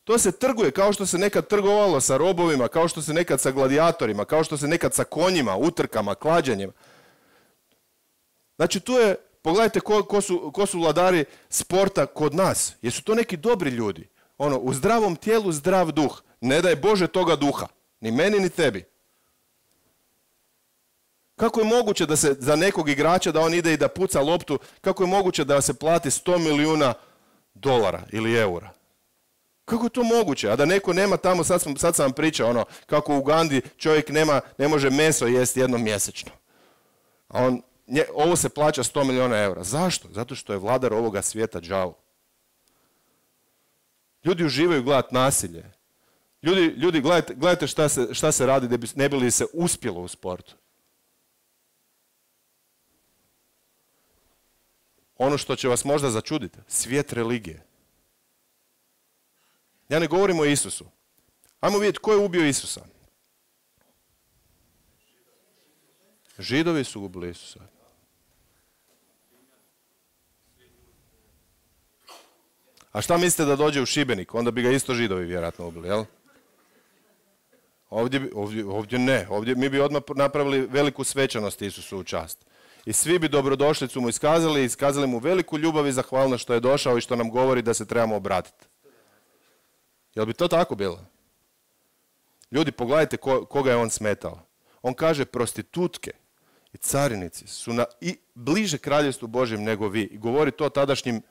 To se trguje kao što se nekad trgovalo sa robovima, kao što se nekad sa gladijatorima, kao što se nekad sa konjima, utrkama, klađenjima. Znači tu je, pogledajte ko, ko, su, ko su vladari sporta kod nas. Jesu to neki dobri ljudi? Ono, u zdravom tijelu zdrav duh. Ne daj Bože toga duha. Ni meni, ni tebi. Kako je moguće da se za nekog igrača, da on ide i da puca loptu, kako je moguće da se plati sto milijuna dolara ili eura? Kako je to moguće? A da neko nema tamo, sad sam, sad sam vam pričao, ono, kako u Ugandi čovjek nema, ne može meso jesti jednom mjesečno. A on, nje, ovo se plaća sto milijuna eura. Zašto? Zato što je vladar ovoga svijeta đavo. Ljudi uživaju gledati nasilje. Ljudi, ljudi gledajte, gledajte šta, se, šta se radi da bi, ne bi li se uspjelo u sportu. Ono što će vas možda začuditi, svijet religije. Ja ne govorim o Isusu. Ajmo vidjeti ko je ubio Isusa. Židovi su ubili Isusa. A šta mislite da dođe u Šibenik? Onda bi ga isto Židovi vjerojatno ubili, jel? Ovdje, ovdje, ovdje ne. Ovdje mi bi odmah napravili veliku svečanost Isusu u čast. I svi bi dobrodošlicu mu iskazali, iskazali mu veliku ljubav i zahvalnost što je došao i što nam govori da se trebamo obratiti. Jel bi to tako bilo? Ljudi, pogledajte ko, koga je on smetao. On kaže, prostitutke i carinici su na, i bliže kraljevstvu Božjem nego vi. I govori to tadašnjim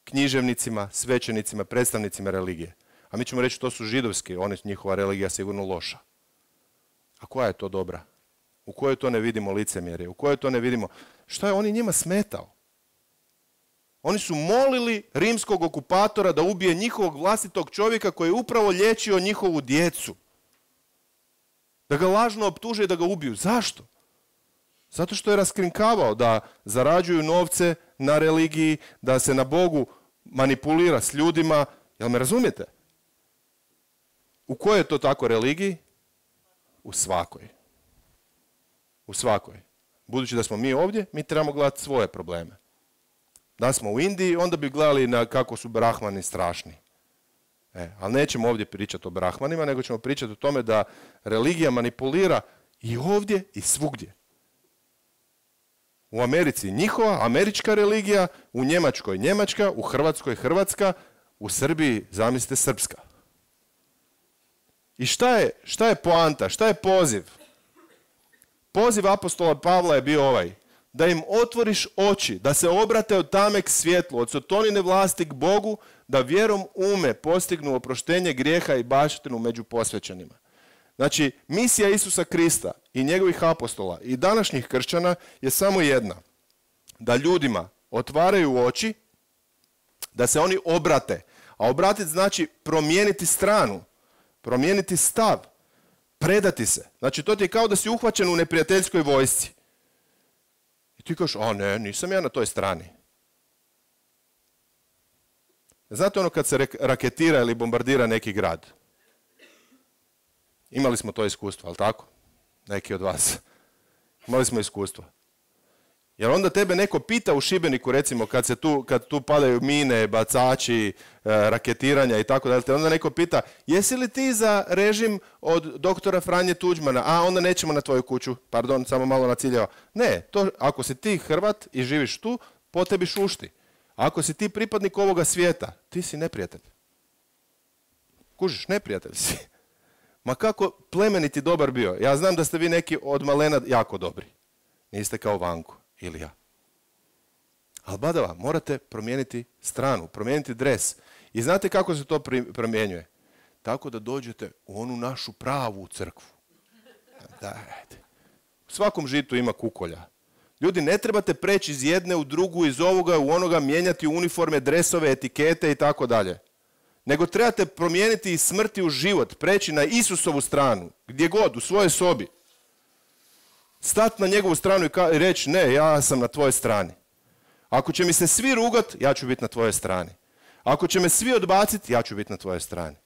književnicima, svećenicima, predstavnicima religije. A mi ćemo reći to su židovski, oni, njihova religija sigurno loša. A koja je to dobra? U kojoj to ne vidimo licemjerje? U kojoj to ne vidimo? Šta je on i njima smetao? Oni su molili rimskog okupatora da ubije njihovog vlastitog čovjeka koji je upravo liječio njihovu djecu. Da ga lažno optuže i da ga ubiju. Zašto? Zato što je raskrinkavao da zarađuju novce na religiji, da se na Bogu manipulira s ljudima. Jel me razumijete? U kojoj je to tako religiji? U svakoj. U svakoj. Budući da smo mi ovdje, mi trebamo gledati svoje probleme. Da smo u Indiji, onda bi gledali na kako su brahmani strašni. E, ali nećemo ovdje pričati o brahmanima, nego ćemo pričati o tome da religija manipulira i ovdje i svugdje. U Americi njihova, američka religija, u Njemačkoj njemačka, u Hrvatskoj hrvatska, u Srbiji, zamislite, srpska. I šta je, šta je poanta, šta je poziv? Poziv apostola Pavla je bio ovaj, da im otvoriš oči, da se obrate od tame k svjetlu, od sotonine vlasti k Bogu, da vjerom ume postignu oproštenje grijeha i baštinu među posvećenima. Znači, misija Isusa Krista i njegovih apostola i današnjih kršćana je samo jedna. Da ljudima otvaraju oči, da se oni obrate. A obratiti znači promijeniti stranu, promijeniti stav, predati se. Znači, to ti je kao da si uhvaćen u neprijateljskoj vojsci. I ti kažeš, a ne, nisam ja na toj strani. Znate ono kad se raketira ili bombardira neki grad? Imali smo to iskustvo, ali tako? Neki od vas. Imali smo iskustvo. Jer onda tebe neko pita u Šibeniku, recimo, kad, se tu, kad tu padaju mine, bacači, e, raketiranja i tako dalje, onda neko pita, jesi li ti za režim od doktora Franje Tuđmana? A, onda nećemo na tvoju kuću. Pardon, samo malo naciljao. Ne, to, ako si ti Hrvat i živiš tu, po tebi šušti. Ako si ti pripadnik ovoga svijeta, ti si neprijatelj. Kužiš, neprijatelj si. Ma kako plemeniti dobar bio. Ja znam da ste vi neki od malena jako dobri. Niste kao Vanko ili ja. Ali badava, morate promijeniti stranu, promijeniti dres. I znate kako se to promjenjuje? Tako da dođete u onu našu pravu crkvu. Dajte. U svakom žitu ima kukolja. Ljudi, ne trebate preći iz jedne u drugu, iz ovoga u onoga, mijenjati uniforme, dresove, etikete i tako dalje. Nego trebate promijeniti iz smrti u život, preći na Isusovu stranu, gdje god, u svojoj sobi. Stati na njegovu stranu i reći, ne, ja sam na tvojoj strani. Ako će mi se svi rugat, ja ću biti na tvojoj strani. Ako će me svi odbaciti, ja ću biti na tvojoj strani.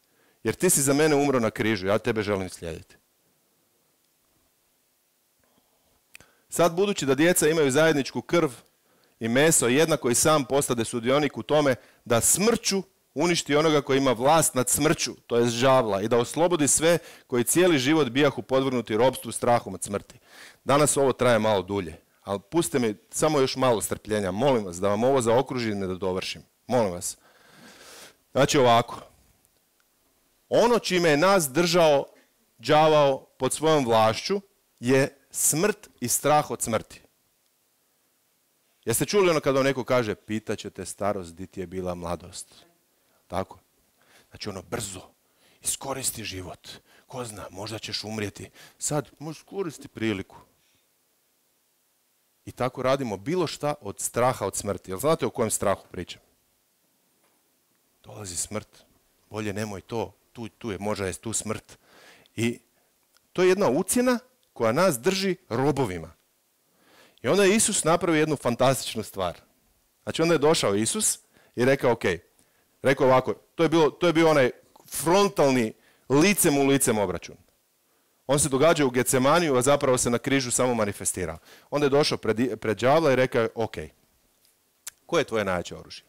Jer ti si za mene umro na križu, ja tebe želim slijediti. Sad, budući da djeca imaju zajedničku krv i meso, jednako i sam postade sudionik u tome da smrću uništi onoga koji ima vlast nad smrću, to je žavla, i da oslobodi sve koji cijeli život bijahu podvrgnuti ropstvu, strahom od smrti. Danas ovo traje malo dulje, ali pustite mi samo još malo strpljenja, molim vas, da vam ovo zaokružim i da dovršim. Molim vas. Znači ovako, ono čime je nas držao đavao pod svojom vlašću je smrt i strah od smrti. Jeste čuli ono kada vam neko kaže, pitaće te starost, di ti je bila mladost? Tako? Znači ono brzo, iskoristi život. Ko zna, možda ćeš umrijeti. Sad, možeš koristiti priliku. I tako radimo bilo šta od straha od smrti. Jel znate o kojem strahu pričam? Dolazi smrt. Bolje nemoj to. Tu, tu je, možda je tu smrt. I to je jedna ucjena koja nas drži robovima. I onda je Isus napravio jednu fantastičnu stvar. Znači onda je došao Isus i rekao, ok, rekao ovako, to je, bilo, to je bio onaj frontalni, licem u licem obračun. On se događa u Getsemaniju, a zapravo se na križu samo manifestirao. Onda je došao pred, pred đavla i rekao, ok, koje je tvoje najjače oružje?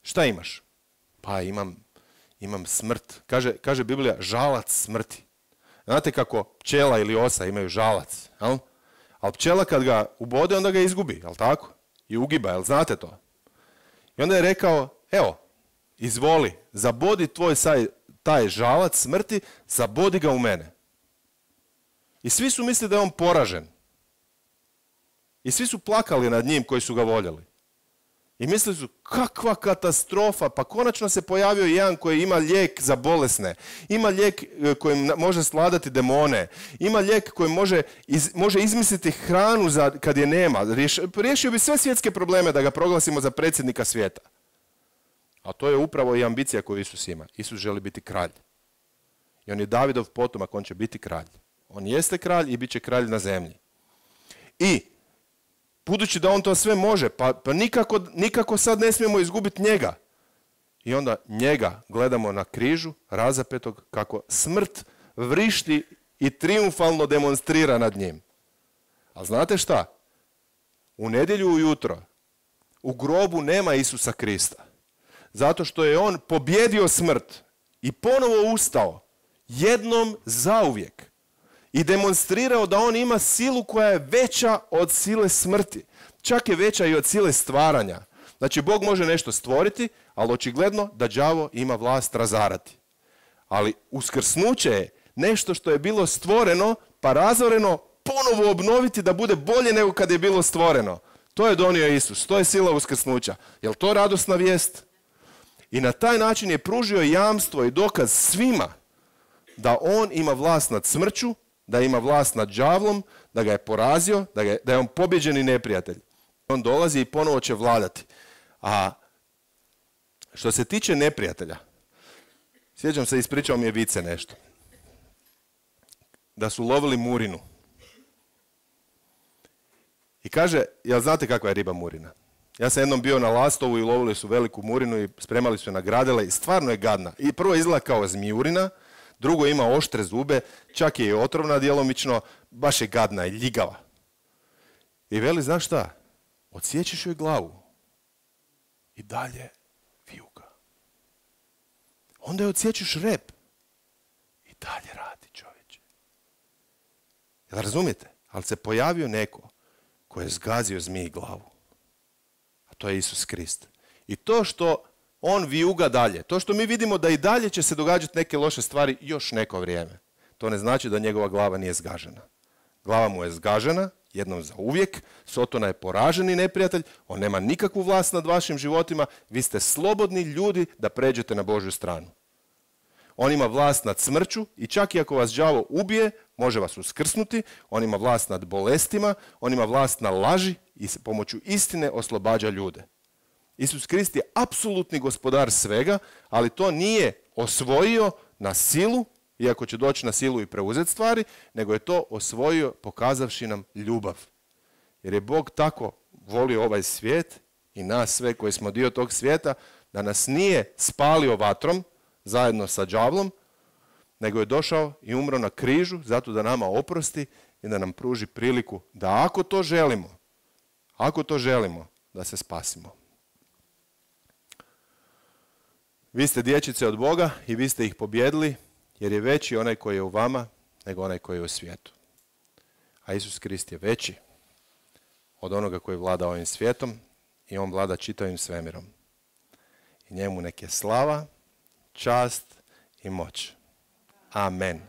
Šta imaš? Pa imam, imam smrt. Kaže, kaže Biblija, žalac smrti. Znate kako pčela ili osa imaju žalac, jel? Ali pčela kad ga ubode, onda ga izgubi, jel tako? I ugiba, jel znate to? I onda je rekao, evo, izvoli, zabodi tvoj saj, taj žalac smrti, zabodi ga u mene. I svi su mislili da je on poražen. I svi su plakali nad njim koji su ga voljeli. I mislili su, kakva katastrofa, pa konačno se pojavio jedan koji ima lijek za bolesne, ima lijek kojim može sladati demone, ima lijek koji može, iz, može izmisliti hranu za, kad je nema. Riješ, riješio bi sve svjetske probleme da ga proglasimo za predsjednika svijeta. A to je upravo i ambicija koju Isus ima. Isus želi biti kralj. I on je Davidov potomak, on će biti kralj. On jeste kralj i bit će kralj na zemlji. I budući da on to sve može, pa, pa nikako, nikako sad ne smijemo izgubiti njega. I onda njega gledamo na križu, razapetog, kako smrt vrišti i triumfalno demonstrira nad njim. A znate šta? U nedjelju ujutro u grobu nema Isusa Krista. Zato što je on pobjedio smrt i ponovo ustao jednom zauvijek. I demonstrirao da on ima silu koja je veća od sile smrti. Čak je veća i od sile stvaranja. Znači, Bog može nešto stvoriti, ali očigledno da đavo ima vlast razarati. Ali uskrsnuće je nešto što je bilo stvoreno, pa razoreno, ponovo obnoviti da bude bolje nego kad je bilo stvoreno. To je donio Isus, to je sila uskrsnuća. Je li to radosna vijest? I na taj način je pružio jamstvo i dokaz svima da on ima vlast nad smrću, da ima vlast nad đavlom, da ga je porazio, da, ga je, da je on pobjeđeni neprijatelj. On dolazi i ponovo će vladati. A što se tiče neprijatelja, sjećam se, ispričao mi je Vice nešto. Da su lovili murinu. I kaže, jel znate kakva je riba murina? Ja sam jednom bio na Lastovu i lovili su veliku murinu i spremali su je na gradele i stvarno je gadna. I prvo izgleda kao zmijurina, drugo ima oštre zube, čak je i otrovna djelomično, baš je gadna i ljigava. I veli, znaš šta? Odsjećeš joj glavu i dalje vijuga. Onda je odsjećeš rep i dalje radi, čovječe. Jel razumijete? Ali se pojavio neko koji je zgazio zmiji glavu. A to je Isus Krist. I to što on vijuga dalje, to što mi vidimo da i dalje će se događati neke loše stvari još neko vrijeme, to ne znači da njegova glava nije zgažena. Glava mu je zgažena, jednom za uvijek, Sotona je poraženi neprijatelj, on nema nikakvu vlast nad vašim životima, vi ste slobodni ljudi da pređete na Božju stranu. On ima vlast nad smrću i čak i ako vas đavo ubije, može vas uskrsnuti, on ima vlast nad bolestima, on ima vlast na laži i pomoću istine oslobađa ljude. Isus Krist je apsolutni gospodar svega, ali to nije osvojio na silu, iako će doći na silu i preuzeti stvari, nego je to osvojio pokazavši nam ljubav. Jer je Bog tako volio ovaj svijet i nas sve koji smo dio tog svijeta, da nas nije spalio vatrom zajedno sa đavlom, nego je došao i umro na križu zato da nama oprosti i da nam pruži priliku da ako to želimo, ako to želimo, da se spasimo. Vi ste dječice od Boga i vi ste ih pobjedili, jer je veći onaj koji je u vama nego onaj koji je u svijetu. A Isus Krist je veći od onoga koji vlada ovim svijetom i on vlada čitavim svemirom. I njemu nek je slava, čast i moć. Amen.